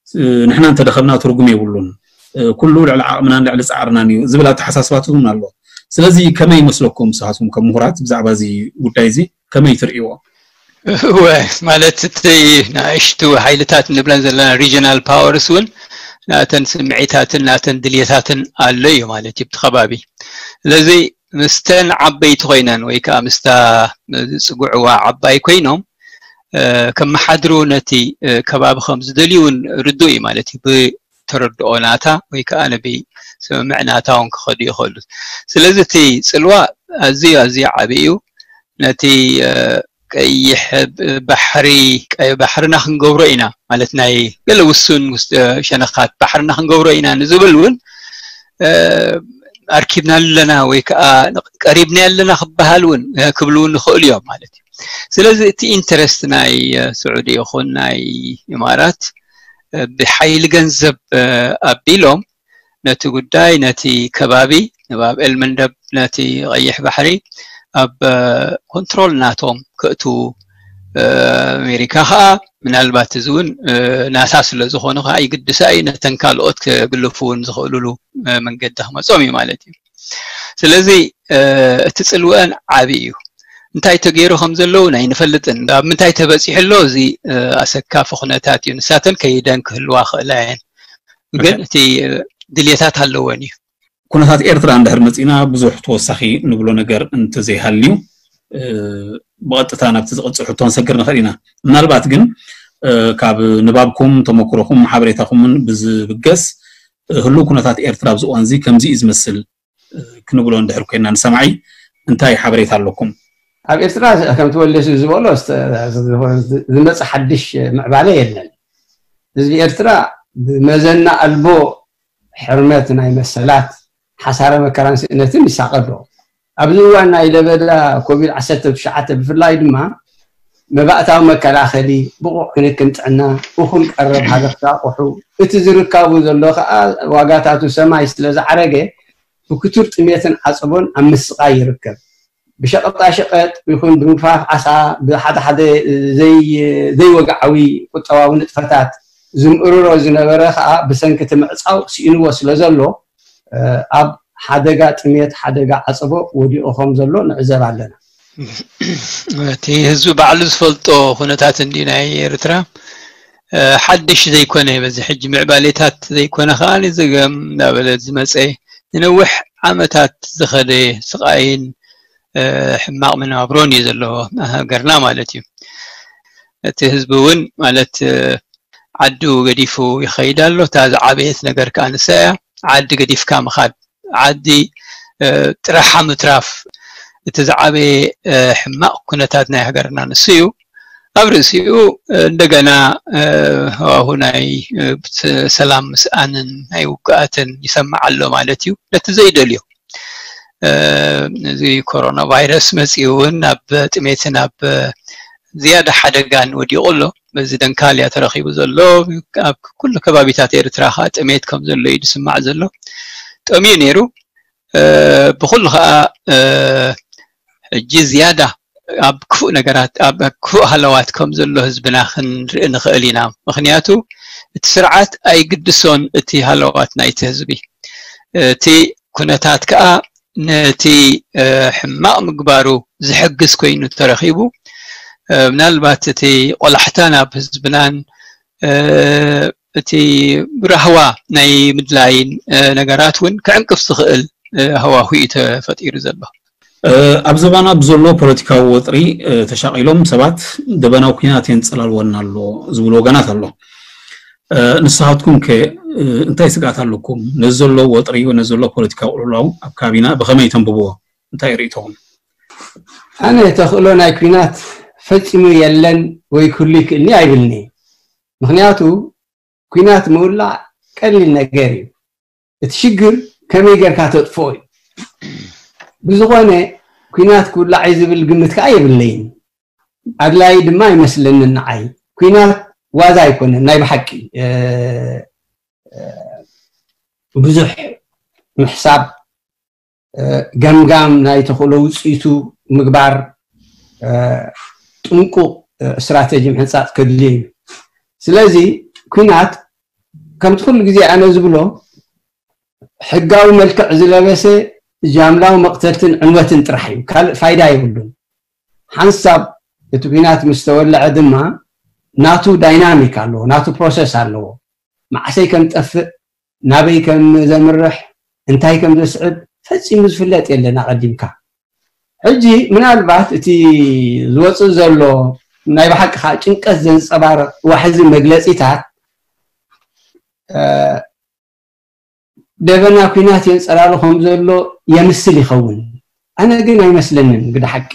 እ፣ ንሕና እንተደኸምና ትርጉም የብሉን። እ፣ ኩሉ ልዕሊ ዓቕምናን ልዕሊ ፃዕርናን እዩ ዝብል ኣተሓሳስባታት እውን ኣሎ። ስለዚ ከመይ ይመስለኩም ንስኻትኩም ከም ምሁራት ብዛዕባ እዚ ጉዳይ እዚ ከመይ ትርእይዎ? እወ፣ ማለት እቲ ንኣሽቱ ሓይልታት ንብለን ዘለና ሪጅናል ፓወርስ እውን ናተን ስምዒታትን ናተን ድልየታትን ኣሎ እዩ ማለት እዩ ኣብቲ ከባቢ። ስለዚ ምስተን ዓበይቲ ኮይነን ወይ ከዓ ምስታ ዝፅግዕዋ ዓባይ ኮይኖም እ፣ ከመሓድሩ ነቲ እ፣ ከባቢ ከም ዝደልዩ እውን ርዱእ እዩ ማለት እዩ። ብተረድኦ ናታ ወይ ከዓ ነቢ ስምምዕ ናታ እውን ክኸዱ ይኽእሉ። ስለዚ እቲ ፅልዋ ኣዝዩ ኣዝዩ ዓብዪ እዩ። ነቲ እ፣ ቀይሕ ባሕሪ ቀይ ባሕርና ክንገብሮ ኢና ማለት ናይ ገለ ውሱን ውስ- እ፣ ሸነኻት ባሕርና ክንገብሮ ኢና ንዝብል እውን እ፣ ኣርኪብና ኣለና ወይ ከዓ ቀሪብና ኣለና ክበሃል እውን እ፣ ክብሉ እውን ይኽእሉ እዮም ማለት እዩ። ስለዚ እቲ ኢንተረስት ናይ እ፣ ስዑዲ ይኹን ናይ ኢማራት እ፣ ብሓይሊ ገንዘብ እ፣ ኣቢሎም ነቲ ጉዳይ ነቲ ከባቢ ንባብ ኤልመንደብ ነቲ ቀይሕ ባሕሪ ኣብ እ፣ ኮንትሮል ናቶም ከእትዉ እ፣ ኣሜሪካ ከዓ ምናልባት እዚ እውን እ፣ ናታ ስለ ዝኾኑ ከዓ ይግድሳ እዩ ነተን ካልኦት ክግልፉ እውን ዝኽእሉሉ እ፣ መንገዲ ክመፆም እዩ ማለት እዩ። ስለዚ እ፣ እቲ ፅልወአን ዓብዪ እዩ። እንታይ ተገይሩ ከም ዘለዉ ናይ ንፈልጥን ኣብ ምንታይ ተበፂሑ ኣሎ እዚ እ፣ ኣሰካፊ ኩነታት እዩ። ንሳተን ከይደን ክህልዋ ክእላ እየን። ግን እቲ ድልየታት ኣለወን እዩ። ኩነታት ኤርትራ እንድሕር መፂና ብዙሕ ተወሳኺ ንብሎ ነገር እንተዘይሃልዩ እ፣ ብቐጥታ ናብቲ ዝቐፅል ሕቶ ክንሰግር ንኽእል ኢና። ምናልባት ግን እ፣ ካብ ንባብኩም ተመክሮኹም ሓበሬታኹምን ብዝብገስ እ፣ ህሉው ኩነታት ኤርትራ ኣብዚ እዋን እዚ ከምዚ እዩ ዝመስል እ፣ ክንብሎ እንድሕር ኮይና ንሰማዒ እንታይ ሓበሬታ ኣለኩም? ኣብ ኤርትራ ከምቲ ወልደስ ዝበሎ ዝመፀ ሓድሽ ምዕባለ የለን። ህዝቢ ኤርትራ ብመዘና ኣልቦ ሕርመት ናይ መሰላት ሓሳረ መከራን ስእነትን ይሳቐ ኣሎ። ኣብዚ እዋን ናይ ለበዳ ኮቪድ ዓሰርተ ትሽዓተ ብፍላይ ድማ መባእታዊ መከላኸሊ፣ ብቑዕ ክንክን ጥዕና፣ እኹል ቀረብ ሃገር ኣቑሑ፣ እቲ ዝርካቡ ዘሎ ከዓ ዋጋታቱ ሰማይ ስለ ዝዓረገ ብክቱር ጥሜትን ዓፀቦን ኣብ ምስቓይ ይርከብ። ብሸቐጣሸቐጥ ይኹን ብምግፋፍ ዓሳ ብሓደ ሓደ ዘይወግዓዊ ቁጠባዊ ንጥፈታት ዝምእርሮ ዝነበረ ከዓ ብሰንኪ እቲ ምዕፃው ስኢንዎ ስለ ዘሎ ኣብ ሓደጋ ጥሜት ሓደጋ ዓፀቦ ወዲቑ ከም ዘሎ ንዕዘብ ኣለና። እቲ ህዝቢ ባዕሉ ዝፈልጦ ኩነታት እንዲ ናይ ኤርትራ ሓድሽ ዘይኮነ በዚ ሕጂ ምዕባሌታት ዘይኮነ ከዓ ንዘገም እናበለ ዝመፀ ንነዊሕ ዓመታት ዝኸደ ስቓይን ሕማቕ መነባብሮን እዩ ዘለዎ ሃገርና ማለት እዩ። እቲ ህዝቢ እውን ማለት ዓዱ ገዲፉ ይኸይድ ኣሎ። እታ ዝዓበየት ነገር ከዓ ንሳ እያ። ዓዲ ገዲፍካ ምኻድ፣ ዓዲ ጥራሓ ምትራፍ፣ እቲ ዝዓበየ ሕማቕ ኩነታት ናይ ሃገርና ንሱ እዩ። ኣብ ርእሲኡ እንደገና ሃዋሁ ናይ ሰላም ምስኣንን ናይ ውግኣትን ይሰማዕ ኣሎ ማለት እዩ። ነቲ ዘይደልዮ እዚ ኮሮና ቫይረስ መፂኡ እውን ናብ ጥሜትን ኣብ ዝያዳ ሓደጋን ወዲቑ ኣሎ። በዚ ደንካል እያ ተረኺቡ ዘሎ። ኣብ ኩሉ ከባቢታት ኤርትራ ከዓ ጥሜት ከም ዘሎ እዩ ዝስማዕ ዘሎ። ጠምዩ ነይሩ። ብኩሉ ከዓ ሕጂ ዝያዳ ኣብ ክፉእ ነገራት ኣብ ክፉእ ሃለዋት ከም ዘሎ ህዝብና ክንርኢ ንኽእል ኢና። ምክንያቱ እቲ ስርዓት ኣይግድሶን እቲ ሃለዋት ናይቲ ህዝቢ። እቲ ኩነታት ከዓ ነቲ ሕማቕ ምግባሩ ዝሕግዝ ኮይኑ ተረኺቡ። ምናልባት እቲ ቆላሕታ ናብ ህዝብናን እቲ ራህዋ ናይ ምድላይን ነገራት እውን ክዕንቅፍ ዝኽእል ሃዋሁ እዩ ተፈጢሩ ዘሎ። ኣብ ዘባና ብዘሎ ፖለቲካዊ ወጥሪ ተሻቒሎም ሰባት ደበናዊ ኩናት የንፀላልወና ኣሎ ዝብሉ ወገናት ኣሎ። ንስኻትኩም ከ እንታይ ስግኣት ኣለኩም? ነዚ ዘሎ ወጥሪ፣ ነዚ ዘሎ ፖለቲካዊ ቅልውላው ኣብ ከባቢና ብኸመይ ተንብብዎ? እንታይ ርእይቶኹም? ኣነ ተኽእሎ ናይ ኩናት ፈጺሙ የለን ወይ ክህሉ ይክእልኒ ኣይብልኒ። ምክንያቱ ኩናት ምውላዕ ቀሊል ነገር እዩ። እቲ ሽግር ከመይ ጌርካ ተጥፍኦ እዩ። ብዝኾነ ኩናት ክውላዕ እዩ ዝብል ግምት ከዓ የብለይን። ኣድላይ ድማ ኣይመስለንን ንዓይ። ኩናት ዋዛ ኣይኮነን ናይ ብሓቂ ብዙሕ ምሕሳብ፣ ገምጋም ናይ ተኽእሎ ውፅኢቱ ምግባር፣ ጥንቁቕ ስትራተጂ ምሕንፃፅ ከድልዮ እዩ። ስለዚ ኩናት ከምቲ ኩሉ ግዜ ኣነ ዝብሎ ሕጋዊ መልክዕ ዝለበሰ ጃምላዊ መቕተልትን ዕንወትን ጥራሕ እዩ፣ ካልእ ፋይዳ የብሉን። ሓንሳብ እቲ ኩናት ምስ ተወለዐ ድማ ናቱ ዳይናሚክ ኣለዎ፣ ናቱ ፕሮሰስ ኣለዎ። መዓሰይ ከም ጠፍእ፣ ናበይ ከም ዘምርሕ፣ እንታይ ከም ዘስዕብ ፈጺሙ ዝፍለጥ የለን ኣቐዲምካ። ሕጂ ምናልባት እቲ ዝወፅእ ዘሎ ናይ ብሓቂ ከዓ ጭንቀት ዘንፀባርቕ ዋሕዚ መግለፂታት ደበና ኩናት የንፀላሉ ከም ዘሎ የምስል ይኸውን። ኣነ ግን ኣይመስለንን ግደ ሓቂ።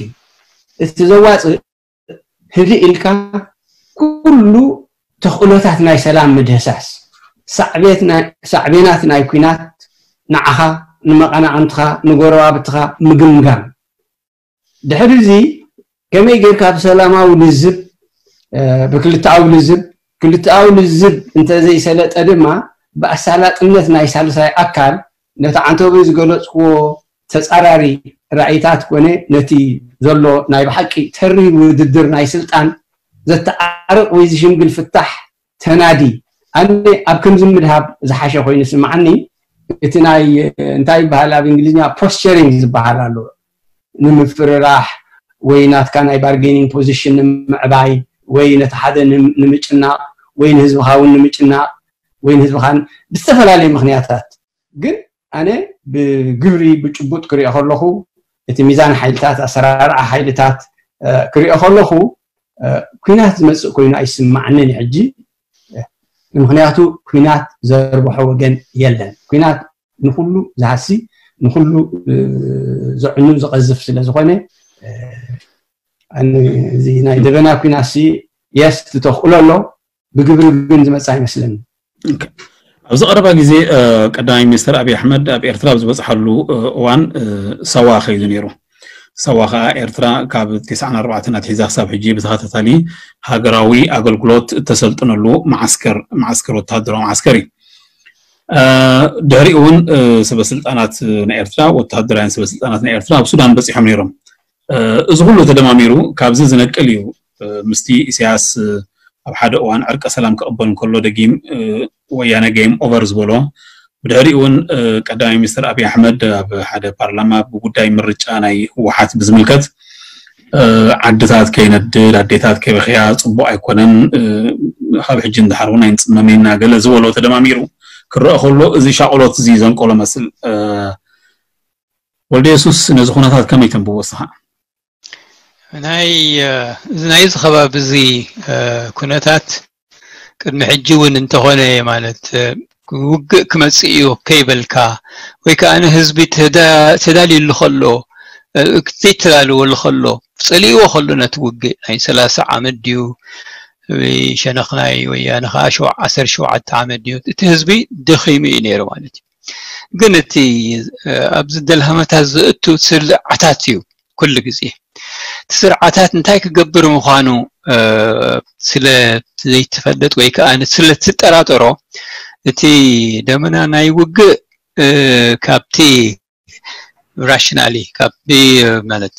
እቲ ዘዋፅእ ህድእ ኢልካ ኩሉ ተኽእሎታት ናይ ሰላም ምድህሳስ፣ ሳዕቤናት ናይ ኩናት ንዓኻ፣ ንመቐናቕንትኻ፣ ንጎረባብትኻ ምግምጋም። ድሕሪ እዚ ከመይ ጌርካ ብሰላማዊ ልዝብ፣ ብክልተኣዊ ልዝብ፣ ክልተኣዊ ልዝብ እንተዘይሰለጠ ድማ ብኣሳላጥነት ናይ ሳልሳይ ኣካል ነቲ ዓንተቦይ ዝገለፅክዎ ተፃራሪ ራእይታት ኮነ ነቲ ዘሎ ናይ ብሓቂ ተሪር ውድድር ናይ ስልጣን ዘተዓርቕ ወይ ዝሽምግል ፍታሕ ተናዲ። ኣነ ኣብ ከምዚ ምድሃብ ዝሓሸ ኮይኑ ስምዓኒ። እቲ ናይ እንታይ ይበሃል ኣብ እንግሊዝኛ ፖስቸሪንግ ዝበሃል ኣሎ፣ ንምፍርራሕ ወይ ናትካ ናይ ባርጌኒንግ ፖዚሽን ንምዕባይ ወይ ነቲ ሓደ ንምጭናቕ ወይ ንህዝብኻ እውን ንምጭናቕ ወይ ንህዝብኻን ብዝተፈላለዩ ምክንያታት። ግን ኣነ ብግብሪ ብጭቡጥ ክሪኦ ከለኹ እቲ ሚዛን ሓይልታት ኣሰራርዓ ሓይልታት ክሪኦ ከለኹ ኩናት ዝመፅእ ኮይኑ ኣይስማዓንን ሕጂ። ምክንያቱ ኩናት ዘርብሖ ወገን የለን። ኩናት ንኩሉ ዝሃሲ ንኩሉ ዘዕኑ ዝቐዝፍ ስለ ዝኾነ እዚ ናይ ደበና ኩናት ሲ የስ ትተኽእሎ ኣሎ፣ ብግብሪ ግን ዝመፅእ ኣይመስለኒ። ኣብዚ ቀረባ ግዜ ቀዳማይ ሚኒስትር ኣብይ ኣሕመድ ኣብ ኤርትራ ኣብ ዝበፅሓሉ እዋን ሳዋ ከይዱ ነይሩ። ሳዋ ከዓ ኤርትራ ካብ ተስዓን ኣርባዕተን ኣትሒዛ ክሳብ ሕጂ ብተኸታታሊ ሃገራዊ ኣገልግሎት እተሰልጥነሉ መዓስከር መዓስከር ወተሃደራዊ መዓስከር እዩ። ድሕሪኡ እውን ሰበስልጣናት ናይ ኤርትራ፣ ወተሃደራውያን ሰበስልጣናት ናይ ኤርትራ ኣብ ሱዳን በፂሖም ነይሮም። እዚ ኩሉ ተደማሚሩ ካብዚ ዝነቅል እዩ። ምስቲ ኢሳያስ ኣብ ሓደ እዋን ዕርቀ ሰላም ክቕበል እንከሎ ደጊም ወያነ ጌም ኦቨር ዝበሎ። ብድሕሪኡ እውን ቀዳማይ ሚኒስትር ኣብይ ኣሕመድ ኣብ ሓደ ፓርላማ ብጉዳይ ምርጫ ናይ ህወሓት ብዝምልከት ዓድታት ከይነድድ፣ ኣዴታት ከይበኽያ ፅቡቕ ኣይኮነን፣ ካብ ሕጂ ንድሓር እውን ኣይንፅመምን ኢና ገለ ዝበሎ ተደማሚሩ ክረአ ከሎ እዚ ሻቕሎት እዚ ዘንቀሎ መስል። ወልደ የሱስ ነዚ ኩነታት ከመይ ተንብቦ እስኻ? ናይ ናይዚ ከባቢ እዚ ኩነታት ቅድሚ ሕጂ እውን እንተኾነ ማለት ውግእ ክመፅእ እዩ ከይበልካ ወይ ከዓ ንህዝቢ ተዳልዩሉ ከሎ ዘይተዳልወሉ ከሎ ፀሊእዎ ከሎ ነቲ ውግእ ናይ ሰላሳ ዓመት ድዩ ሸነኽ ናይ ወያነ ከዓ ዓሰርተ ሸውዓተ ዓመት ድዩ እቲ ህዝቢ ደኺሙ እዩ ነይሩ ማለት እዩ። ግን እቲ ኣብዚ ደልሃመታት ዝእቱ ስርዓታት እዩ ኩሉ ግዜ እቲ ስርዓታት እንታይ ክገብር ምዃኑ ስለ ዘይትፈልጥ ወይ ከዓ ስለ ትጠራጠሮ እቲ ደመና ናይ ውግእ ካብቲ ራሽናሊ ካብቲ ማለት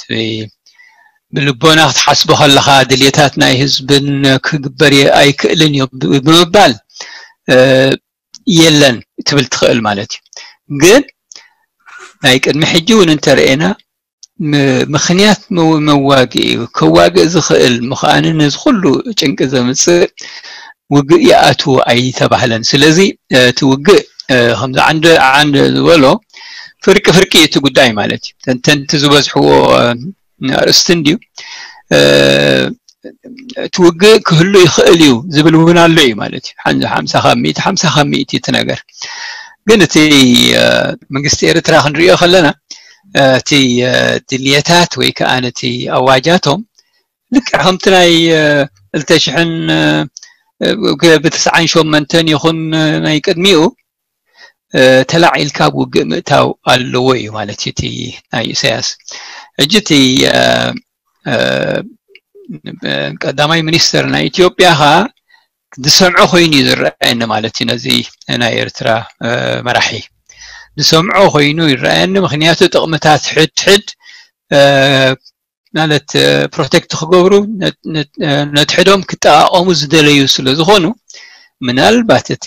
ብልቦና ክትሓስቦ ከለኻ ድልየታት ናይ ህዝብን ክግበር የ- ኣይክእልን እዩ ብምባል የለን ትብል ትኽእል ማለት እዩ። ግን ናይ ቅድሚ ሕጂ እውን እንተረኤና ምኽንያት መዋግኢ እዩ። ከዋግእ ዝኽእል ምዃንን ነዚ ኩሉ ጭንቂ ዘምፅእ ውግእ ይኣትዎ ኣይተባህለን። ስለዚ እቲ ውግእ ከምዚ ዓንደ ዓንደ ዝበሎ ፍርቂ ፍርቂ እቲ ጉዳይ ማለት እዩ። ተንተንቲ ዝበዝሕዎ ኣርእስቲ እንድዩ። እቲ ውግእ ክህሉ ይኽእል እዩ ዝብል እውን ኣሎ እዩ ማለት እዩ። ሓምሳ ካብ ሚእቲ ሓምሳ ካብ ሚእቲ እቲ ነገር ግን እቲ መንግስቲ ኤርትራ ክንሪኦ ከለና እቲ ድልየታት ወይ ከዓ ነቲ ኣዋጃቶም ልክዕ ከምቲ ናይ ክልተ ሽሕን ብተስዓን ሸሞንተን ይኹን ናይ ቅድሚኡ ተላዒልካ ኣብ ውግእ ምእታው ኣለዎ እዩ ማለት እዩ እቲ ናይ ኢሳያስ። ሕጂ እቲ ቀዳማይ ሚኒስተር ናይ ኢትዮጵያ ኸዓ ዝሰምዖ ኮይኑ እዩ ዝረኣየኒ ማለት እዩ። ነዚ ናይ ኤርትራ መራሒ ዝሰምዖ ኮይኑ ይረኣየኒ። ምክንያቱ ጥቕምታት ሕድሕድ ማለት ፕሮቴክት ክገብሩ ነድሕዶም ክጠቓቐሙ ዝደለዩ ስለ ዝኾኑ ምናልባት እቲ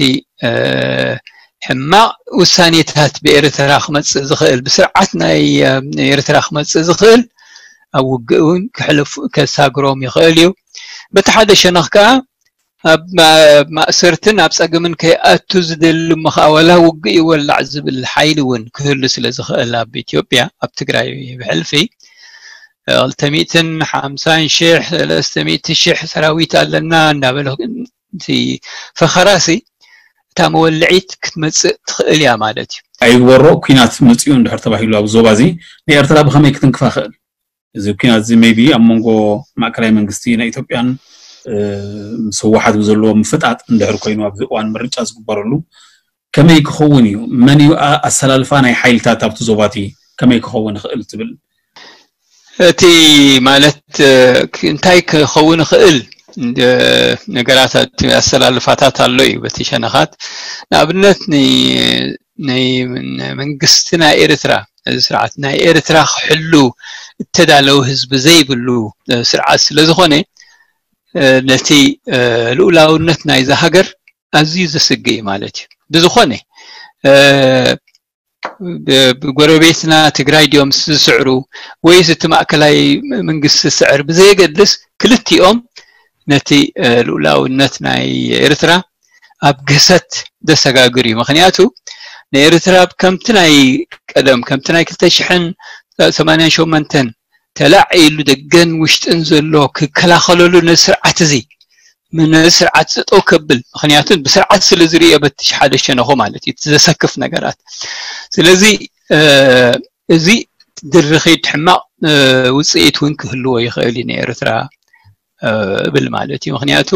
ሕማቕ ውሳኔታት ብኤርትራ ክመፅእ ዝኽእል ብስርዓት ናይ ኤርትራ ክመፅእ ዝኽእል ኣብ ውግእ እውን ክሕልፉ ከሳግሮም ይኽእል እዩ። በቲ ሓደ ሸነኽ ከዓ ኣብ ማእሰርትን ኣብ ፀገምን ከይኣቱ ዝደሊ እሞ ከዓ ወላ ውግእ ይወላዕ ዝብል ሓይሊ እውን ክህሉ ስለ ዝኽእል ኣብ ኢትዮጵያ ኣብ ትግራይ ብሕልፊ ክልተ ሚእትን ሓምሳን ሽሕ ሰለስተ ሚእቲ ሽሕ ሰራዊት ኣለና እንዳበለ ፈኸራሲ እታ መወልዒት ክትመፅእ ትኽእል እያ ማለት እዩ። ኣይግበሮ ኲናት መፅኡ እንድሕር ተባሂሉ ኣብ ዞባ እዚ ንኤርትራ ብኸመይ ክትንክፋ ክእል? እዚ ኲናት እዚ maybe ኣብ መንጎ ማእከላይ መንግስቲ ናይ ኢትዮጵያን ምስ ህወሓት ብዘለዎ ምፍጣጥ እንድሕር ኮይኑ ኣብዚ እዋን ምርጫ ዝግበረሉ ከመይ ክኸውን እዩ? መን እዩ ኣሰላልፋ ናይ ሓይልታት ኣብቲ ዞባቲ ከመይ ክኸውን ይኽእል ትብል? እቲ ማለት እንታይ ክኸውን ይኽእል ነገራት ኣሰላልፋታት ኣሎ እዩ በቲ ሸነኻት ንኣብነት ናይ መንግስቲ ናይ ኤርትራ እዚ ስርዓት ናይ ኤርትራ ክሕሉ እተዳለወ ህዝቢ ዘይብሉ ስርዓት ስለ ዝኾነ ነቲ ልኡላውነት ናይዛ ሃገር ኣዝዩ ዘስግእ እዩ ማለት እዩ። ብዝኾነ ብጎረቤትና ትግራይ ድዮም ዝስዕሩ ወይስ እቲ ማእከላይ መንግስቲ ዝስዕር ብዘየገድስ ክልቲኦም ነቲ ልኡላውነት ናይ ኤርትራ ኣብ ግህሰት ዘሰጋግር እዩ። ምክንያቱ ንኤርትራ ከምቲ ናይ ቀደም ከምቲ ናይ ክልተ ሽሕን ሰማንያን ሸሞንተን ተላዒሉ ደገን ውሽጥን ዘሎ ክከላኸለሉ ነዚ ስርዓት እዚ ነዚ ስርዓት ጠጠው ከብል ምክንያቱ ብስርዓት ስለ ዝርእዮ በቲ ሓደ ሸነኹ ማለት እዩ ዘሰክፍ ነገራት ስለዚ እዚ ድርኺት ሕማቕ ውፅኢት እውን ክህልዎ ይኽእል እዩ ንኤርትራ እብል ማለት እዩ ምክንያቱ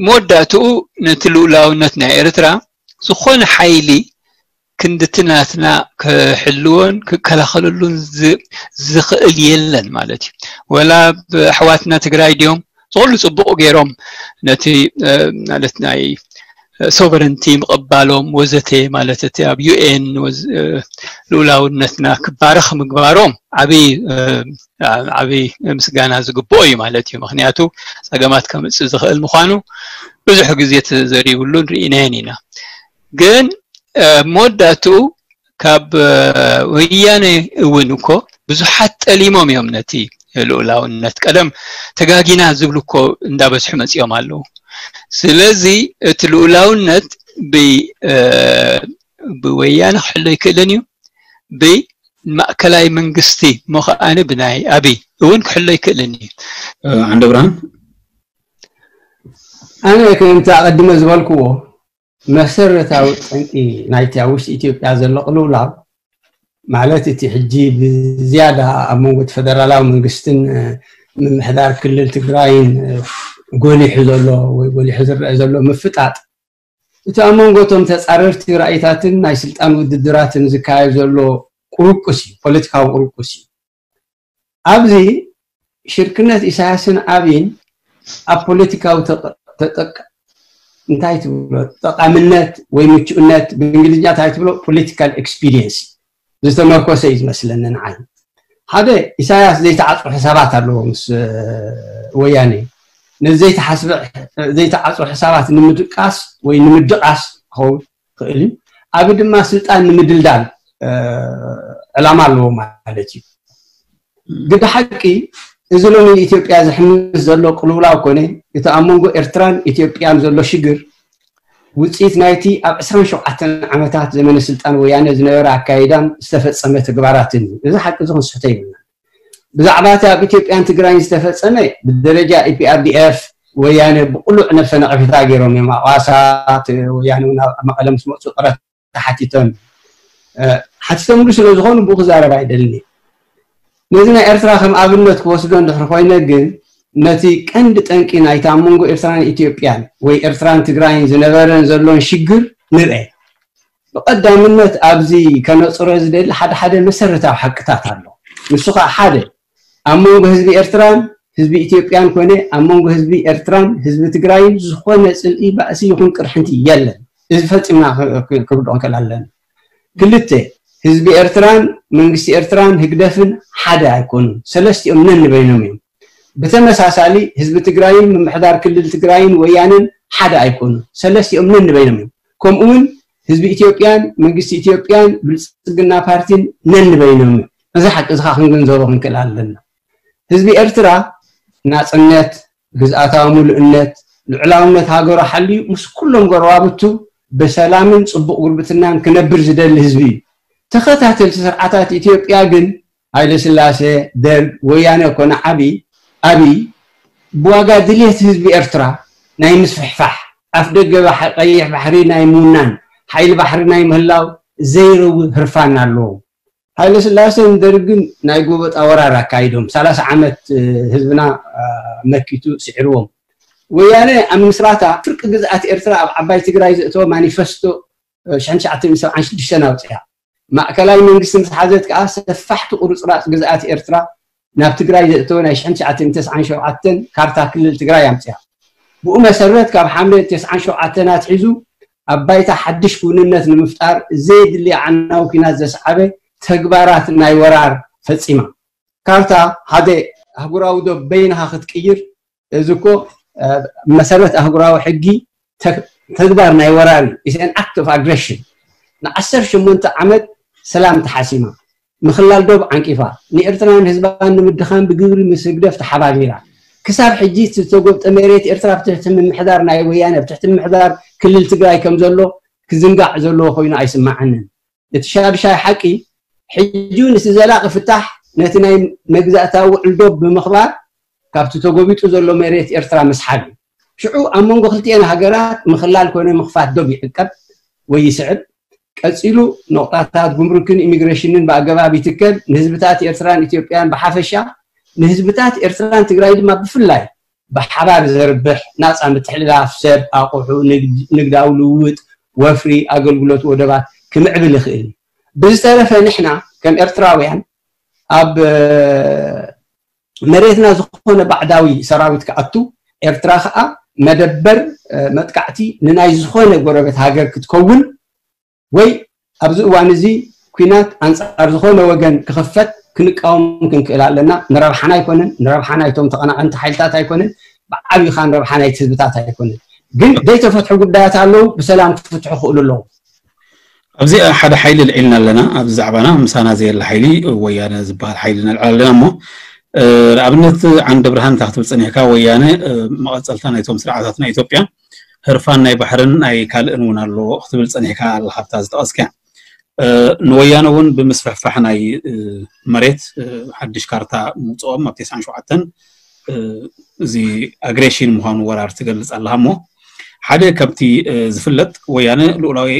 መወዳእትኡ ነቲ ልኡላውነት ናይ ኤርትራ ዝኾነ ሓይሊ ክንድቲ ናትና ክሕልዎን ክከላኸለሉን ዝኽእል የለን ማለት እዩ ወላ ኣሕዋትና ትግራይ ድዮም ዝኩሉ ፅቡቕ ገይሮም ነቲ ማለት ናይ sovereignty ምቕባሎም ወዘተ ማለት እቲ ኣብ UN ልኡላውነትና ክባረኽ ምግባሮም ዓብይ ዓብይ ምስጋና ዝግብኦ እዩ ማለት እዩ ምክንያቱ ፀገማት ከምፅእ ዝኽእል ምዃኑ ብዙሕ ግዜ ተዘሪብሉን ርኢናየን ኢና ግን መወዳእትኡ ካብ ወያነ እውን እኮ ብዙሓት ጠሊሞም እዮም ነቲ ልኡላውነት ቀደም ተጋጊና ዝብሉ እኮ እንዳበዝሑ መፂኦም ኣለዉ ስለዚ እቲ ልኡላውነት ብወያነ ክሕሎ ይክእልን እዩ ብማእከላይ መንግስቲ እሞ ከዓኒ ብናይ ኣብይ እውን ክሕሎ ይክእልን እዩ ዓንደ ብርሃን ኣነ ከምቲ ኣቐድመ ዝበልክዎ መሰረታዊ ጠንቂ ናይቲ ኣብ ውሽጢ ኢትዮጵያ ዘሎ ቅልውላው ማለት እቲ ሕጂ ብዝያዳ ኣብ መንጎ እቲ ፈደራላዊ መንግስትን ምምሕዳር ክልል ትግራይን ጎሊሑ ዘሎ ወይ ጎሊሑ ዝረአ ዘሎ ምፍጣጥ እቲ ኣብ መንጎ እቶም ተፃረርቲ ራእይታትን ናይ ስልጣን ውድድራትን ዝካየድ ዘሎ ቁርቁስ እዩ ፖለቲካዊ ቁርቁስ እዩ ኣብዚ ሽርክነት ኢሳያስን ኣብይን ኣብ ፖለቲካዊ እንታይ ትብሎ ጠቃምነት ወይ ምቹእነት ብእንግሊዝኛ እንታይ ትብሎ political expediency ዝተመርኮሰ እዩ ዝመስለኒ ንዓይ ሓደ፣ ኢሳያስ ዘይተዓፅሩ ሕሳባት ኣለዎ ምስ ወያነ። ነዚ ዘይተሓስበ ዘይተዓፅሩ ሕሳባት ንምድቃስ ወይ ንምድቃስ ክኸውን ክእል እዩ። ኣብ ድማ ስልጣን ንምድልዳል ዕላማ ኣለዎ ማለት እዩ። ግዲ ሓቂ፣ እዚ ሎሚ ንኢትዮጵያ ዝሕምስ ዘሎ ቅልውላው ኮነ እቲ ኣብ መንጎ ኤርትራን ኢትዮጵያን ዘሎ ሽግር ውፅኢት ናይቲ ኣብ ዕስራን ሸውዓተን ዓመታት ዘመነ ስልጣን ወያነ ዝነበረ ኣካይዳን ዝተፈፀመ ተግባራትን እዩ። እዚ ሓቂ እዚ ክንስሕቶ ይብልና። ብዛዕባ እቲ ኣብ ኢትዮጵያን ትግራይን ዝተፈፀመ ብደረጃ ኢፒኣርዲኤፍ ወያነ ብቁሉዕ ነብሰ ነቐፌታ ገይሮም እዮም። ኣዋሳት ወያነ እውን ኣብ መቐለ ምስ መፁ ቅረት ተሓቲቶም ሓቲቶምሉ ስለ ዝኾኑ ብኡ ክዛረብ ኣይደልን። ነዚ ናይ ኤርትራ ከም ኣብነት ክወስዶ እንድሕር ኮይነ ግን ነቲ ቀንዲ ጠንቂ ናይታ ኣብ መንጎ ኤርትራን ኢትዮጵያን ወይ ኤርትራን ትግራይን ዝነበረን ዘሎን ሽግር ንርአ። ብቐዳምነት ኣብዚ ከነፅሮ ዝደሊ ሓደ ሓደ መሰረታዊ ሓቅታት ኣሎ። ንሱ ከዓ ሓደ፣ ኣብ መንጎ ህዝቢ ኤርትራን ህዝቢ ኢትዮጵያን ኮነ ኣብ መንጎ ህዝቢ ኤርትራን ህዝቢ ትግራይን ዝኾነ ፅልኢ፣ ባእሲ ይኹን ቅርሕንቲ የለን። እዚ ፈፂምና ክርድኦ ክእል ኣለና። ክልተ፣ ህዝቢ ኤርትራን መንግስቲ ኤርትራን ህግደፍን ሓደ ኣይኮኑን። ሰለስቲኦም ነንበይኖም እዮም። ብተመሳሳሊ ህዝቢ ትግራይን ምምሕዳር ክልል ትግራይን ወያነን ሓደ ኣይኮኑን። ሰለስቲኦም ነንበይኖም እዮም። ከምኡ እውን ህዝቢ ኢትዮጵያን መንግስቲ ኢትዮጵያን ብልፅግና ፓርቲን ነንበይኖም እዮም። እዚ ሓቂ እዚ ከዓ ክንግንዘቦ ክንክእል ኣለና። ህዝቢ ኤርትራ ናፅነት፣ ግዝኣታዊ ምሉእነት፣ ልዑላውነት ሃገሩ ሓልዩ ምስ ኩሎም ጎረባብቱ ብሰላምን ፅቡቕ ጉርብትናን ክነብር ዝደሊ ህዝቢ እዩ። ተኸታተልቲ ስርዓታት ኢትዮጵያ ግን ሃይለ ስላሴ፣ ደርግ፣ ወያነ ኮነ ዓቢ ኣብይ ብዋጋ ድልየት ህዝቢ ኤርትራ ናይ ምስፍሕፋሕ፣ ኣፍ ደገ ባሕ- ቀይሕ ባሕሪ ናይ ምውናን፣ ሓይሊ ባሕሪ ናይ ምህላው ዘይረዊ ህርፋን ኣለዎም። ሃይለ ስላሴን ደርግን ናይ ጎበጣ ወራር ኣካይዶም ሰላሳ ዓመት ህዝብና መኪቱ ስዒርዎም። ወያነ ኣብ ምስራታ ፍርቂ ግዝኣት ኤርትራ ኣብ ዓባይ ትግራይ ዘእተወ ማኒፈስቶ ሽሕን ትሽዓተ ሚእትን ሰብዓን ሽዱሽተን ኣውፅያ። ማእከላይ መንግስቲ ምስ ሓዘት ከዓ ሰፋሕቲ ቁርፅራፅ ግዝኣት ኤርትራ ናብ ትግራይ ዘእተወ ናይ ሽሕን ትሽዓተ ሚእትን ተስዓን ሸውዓተን ካርታ ክልል ትግራይ ኣምፅያ። ብኡ መሰረት ካብ ሓምለ ተስዓን ሸውዓተን ኣትሒዙ ኣብ ባይታ ሓድሽ ክውንነት ንምፍጣር ዘየድሊ ኣዕናዊ ኲናት ዘስዓበ ተግባራት ናይ ወራር ፈፂማ። ካርታ ሓደ ኣህጉራዊ ዶብ በይንኻ ክትቅይር፣ እዚ እኮ መሰረት ኣህጉራዊ ሕጊ ተግባር ናይ ወራር እዩ። It's an act of aggression። ንዓሰርተ ሸሞንተ ዓመት ሰላም ተሓሲማ፣ ምኽላል ዶብ ዓንቂፋ፣ ንኤርትራን ህዝባን ንምድኻም ብግብሪ ምስ ህግደፍ ተሓባቢራ፣ ክሳብ ሕጂ ዝተጎብጠ መሬት ኤርትራ ብትሕቲ ምምሕዳር ናይ ወያነ ብትሕቲ ምምሕዳር ክልል ትግራይ ከም ዘሎ ክዝንጋዕ ዘለዎ ኮይኑ ኣይስማዓንን። እቲ ሻድሻይ ሓቂ፣ ሕጂ እውን እቲ ዘላቒ ፍታሕ ነቲ ናይ መግዛእታዊ ውዕል ዶብ ብምኽባር ካብቲ ተጎቢጡ ዘሎ መሬት ኤርትራ ምስሓብ እዩ። ሽዑ ኣብ መንጎ ክልቲኤን ሃገራት ምኽላል ኮነ ምኽፋት ዶብ ይዕቀብ ወይ ይስዕብ። ቀፂሉ ነቑጣታት ጉምሩክን ኢሚግሬሽንን ብኣገባብ ይትከል። ንህዝብታት ኤርትራን ኢትዮጵያን ብሓፈሻ ንህዝብታት ኤርትራን ትግራይ ድማ ብፍላይ ብሓባር ዘርብሕ ናፃ ምትሕልላፍ ሰብ፣ ኣቑሑ፣ ንግዳዊ ልውውጥ፣ ወፍሪ፣ ኣገልግሎት፣ ወደባት ክምዕብል ይኽእል እዩ። ብዝተረፈ ንሕና ከም ኤርትራውያን ኣብ መሬትና ዝኾነ ባዕዳዊ ሰራዊት ክኣቱ፣ ኤርትራ ከዓ መደበር መጥቃዕቲ ንናይ ዝኾነ ጎረቤት ሃገር ክትከውን ወይ ኣብዚ እዋን እዚ ኲናት ኣንፃር ዝኾነ ወገን ክኽፈት ክንቃወም ክንክእል ኣለና። ንረብሓና ኣይኮነን፣ ንረብሓ ናይቶም ተቐናቐንቲ ሓይልታት ኣይኮነን፣ ብዓብይኻ ንረብሓ ናይቲ ህዝብታት ኣይኮነን። ግን ዘይተፈትሑ ጉዳያት ኣለዉ፣ ብሰላም ክፍትሑ ክእሉ ኣለዉ። ኣብዚ ሓደ ሓይሊ ልዒልና ኣለና። ኣብዚ ዛዕባና ምሳና ዘየለ ሓይሊ ወያነ ዝበሃል ሓይሊ ነልዕል ኣለና እሞ ንኣብነት ዓንደ ብርሃን እንታይ ክትብል ፀኒሕካ? ወያነ መቐፀልታ ናይቶም ስርዓታት ናይ ኢትዮጵያ ህርፋን ናይ ባሕርን ናይ ካልእን እውን ኣሎ ክትብል ፀኒሕካ ኣለካ ኣብታ ዝጠቐስካ። ንወያነ እውን ብምስፍሕፋሕ ናይ መሬት ሓድሽ ካርታ ምውፅኦም ኣብ ተስዓን ሸውዓተን እዚ ኣግሬሽን ምዃኑ ወራር ትገልፅ ኣለካ እሞ ሓደ ከምቲ ዝፍለጥ ወያነ ልኡላዊ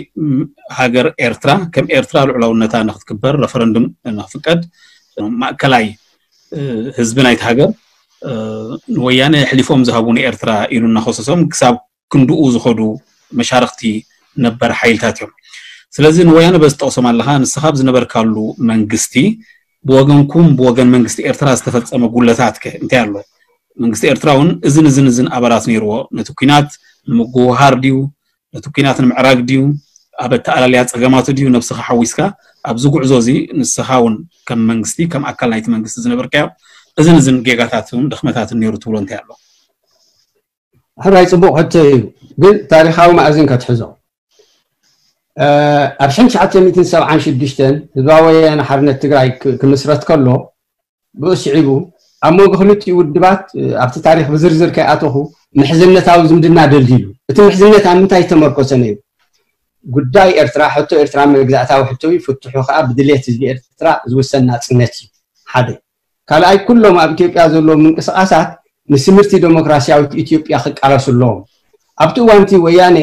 ሃገር ኤርትራ ከም ኤርትራ ልዑላውነታ ንክትግበር ረፈረንዱም ንክፍቀድ ማእከላይ ህዝቢ ናይቲ ሃገር ንወያነ ኣሕሊፎም ዝሃቡ ንኤርትራ ኢሉ እናኸሰሶም ክሳብ ክንድኡ ዝኸዱ መሻርክቲ ነበር ሓይልታት እዮም። ስለዚ ንወያነ በዚ ትጠቕሶም ኣለኻ፣ ንስኻ ኣብ ዝነበርካሉ መንግስቲ ብወገንኩም ብወገን መንግስቲ ኤርትራ ዝተፈጸመ ጉለታት ከ እንታይ ኣሎ? መንግስቲ ኤርትራ እውን እዝን እዝን እዝን ኣበራት ነይርዎ። ነቲ ኲናት ንምጉህሃር ድዩ? ነቲ ኲናት ንምዕራግ ድዩ? ኣብ ኣተኣላልያ ጸገማቱ ድዩ ነብስኻ ሓዊስካ ኣብዚ ጉዕዞ እዚ ንስኻ እውን ከም መንግስቲ ከም ኣካል ናይቲ መንግስቲ ዝነበርካዮ እዝን እዝን ጌጋታትን ድኽመታትን ነይሩ ትብሎ እንታይ ኣሎ? ሕራይ ጽቡቕ ሕቶ እዩ። ግን ታሪኻዊ መኣዝን ከትሕዞ ኣብ ሽሕን ትሽዓተ ሚእትን ሰብዓን ሽዱሽተን ህዝባዊ ወያነ ሓርነት ትግራይ ክምስረት ከሎ ብኡ ስዒቡ ኣብ መንጎ ክልቲኡ ውድባት ኣብቲ ታሪክ ብዝርዝር ከይኣተኹ ምሕዝነታዊ ዝምድና ደልዲሉ። እቲ ምሕዝነት ኣብ ምንታይ ዝተመርኮሰ ነይሩ? ጉዳይ ኤርትራ ሕቶ ኤርትራ መግዛእታዊ ሕቶ እዩ። ፍትሑ ከዓ ብድሌት ህዝቢ ኤርትራ ዝውሰን ናጽነት እዩ። ሓደ ካልኣይ ኩሎም ኣብ ኢትዮጵያ ዘለዉ ምንቅስቃሳት ንስምርቲ ዴሞክራሲያዊት ኢትዮጵያ ክቃለሱ ኣለዎም። ኣብቲ እዋንቲ ወያኔ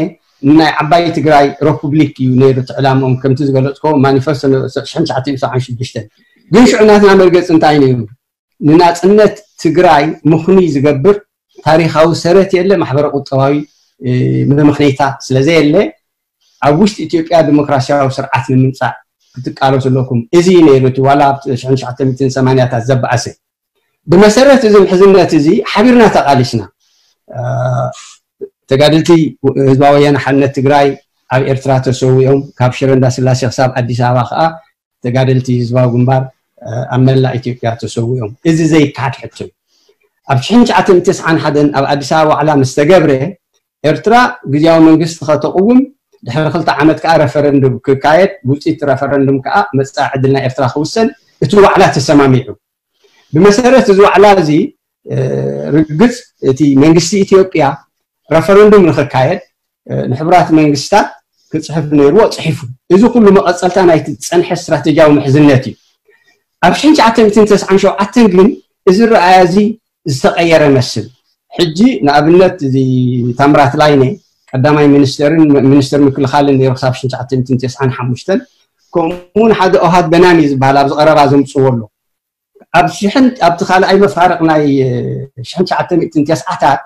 ናይ ዓባይ ትግራይ ረፑብሊክ እዩ ነይሩ እቲ ዕላምኦም ከምቲ ዝገለፅኮ ማኒፈስቶ ሽሕን ትሽዓተ ሚእትን ሰብዓን ሽዱሽተን። ግን ሽዑ ናትና መርገፂ እንታይ ነይሩ? ንናፅነት ትግራይ ምኽኑይ ዝገብር ታሪኻዊ ሰረት የለ፣ ማሕበረ ቁጠባዊ መምኽነይታ ስለዘየለ ኣብ ውሽጢ ኢትዮጵያ ዲሞክራሲያዊ ስርዓት ንምምፃእ ክትቃለሱ ኣለኩም። እዚ ነይሩ እቲ ዋላ ኣብ ሽሕን ትሽዓተ ሚእትን ሰማንያታት ዘበኣሰ። ብመሰረት እዚ ምሕዝነት እዚ ሓቢርና ተቃሊስና። ተጋደልቲ ህዝባዊ ወያነ ሓርነት ትግራይ ኣብ ኤርትራ ተሰዊኦም፣ ካብ ሽረ እንዳስላሴ ክሳብ ኣዲስ ኣበባ ከዓ ተጋደልቲ ህዝባዊ ግንባር ኣብ መላእ ኢትዮጵያ ተሰዊኦም። እዚ ዘይከሓድ ሕቶ እዩ። ኣብ ሽሕን ትሽዓተ ሚእትን ተስዓን ሓደን ኣብ ኣዲስ ኣበባ ዋዕላ ምስ ተገብረ ኤርትራ ግዝያዊ መንግስቲ ከተቕውም ድሕሪ ክልተ ዓመት ከዓ ረፈረንዱም ክካየድ፣ ውፅኢት ረፈረንዱም ከዓ መፃኢ ዕድል ናይ ኤርትራ ክውሰን እቲ ዋዕላ ተሰማሚዑ። ብመሰረት እዚ ዋዕላ እዚ ርግፅ እቲ መንግስቲ ኢትዮጵያ ረፈረንዱም ንክካየድ ንሕቡራት መንግስታት ክፅሕፍ ነይርዎ፣ ፅሒፉ። እዚ ኩሉ መቐፀልታ ናይቲ ዝፀንሐ ስትራቴጂያዊ ምሕዝነት እዩ። ኣብ ሽሕን ትሽዓተ ሚእትን ተስዓን ሸውዓተን ግን እዚ ረኣያ እዚ ዝተቐየረ መስል። ሕጂ ንኣብነት እዚ ታምራት ላይነ ቀዳማይ ሚኒስተርን ሚኒስተር ምክልኻልን ነይሩ ክሳብ ሽሕን ትሽዓተ ሚእትን ተስዓን ሓሙሽተን። ከምኡውን ሓደ ኦሃድ በናኒ ዝበሃል ኣብዚ ቀረባ ዘምፅዎ ኣሎ። ኣብ ሽሕን ኣብቲ ካልኣይ መፋርቕ ናይ ሽሕን ትሽዓተ ሚእትን ተስዓታት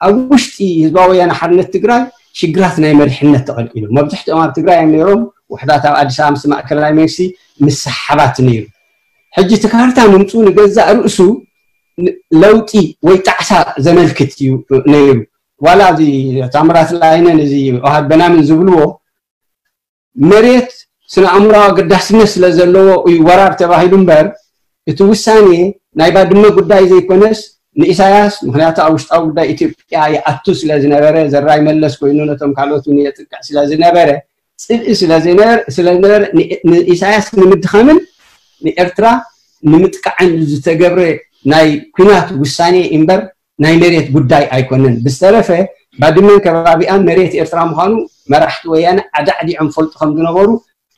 ኣብ ውሽጢ ህዝባዊ ወያነ ሓርነት ትግራይ ሽግራት ናይ መሪሕነት ተቐልቂሉ። መብዛሕትኦም ኣብ ትግራይ እዮም ነይሮም። ውሕዳት ኣብ ኣዲስ ኣበባ ምስ ማእከላይ መንግስቲ ምስሓባት ነይሩ። ሕጂ እቲ ካርታ ምምፅኡ ንገዛእ ርእሱ ለውጢ ወይ ጣዕሳ ዘመልክት እዩ ነይሩ። ዋላ እዚ ታምራት ላይነን እዚ ኦሃድ በናምን ዝብልዎ መሬት ስነ ኣእምራዊ ኣገዳስነት ስለ ዘለዎ እዩ ወራር ተባሂሉ እምበር እቲ ውሳኔ ናይ ባድመ ጉዳይ ዘይኮነስ ንኢሳያስ፣ ምክንያቱ ኣብ ውሽጣዊ ጉዳይ ኢትዮጵያ ይኣቱ ስለ ዝነበረ፣ ዘራይ መለስ ኮይኑ ነቶም ካልኦት እውን የጥቅዕ ስለ ዝነበረ፣ ጽልኢ ስለ ዝነበረ ንኢሳያስ ንምድኻምን ንኤርትራ ንምጥቃዕን ዝተገብረ ናይ ኩናት ውሳኔ እምበር ናይ መሬት ጉዳይ ኣይኮነን። ብዝተረፈ ባድመን ከባቢኣን መሬት ኤርትራ ምዃኑ መራሕቲ ወያነ ኣዳዕዲዖም ፈልጡ ከም ዝነበሩ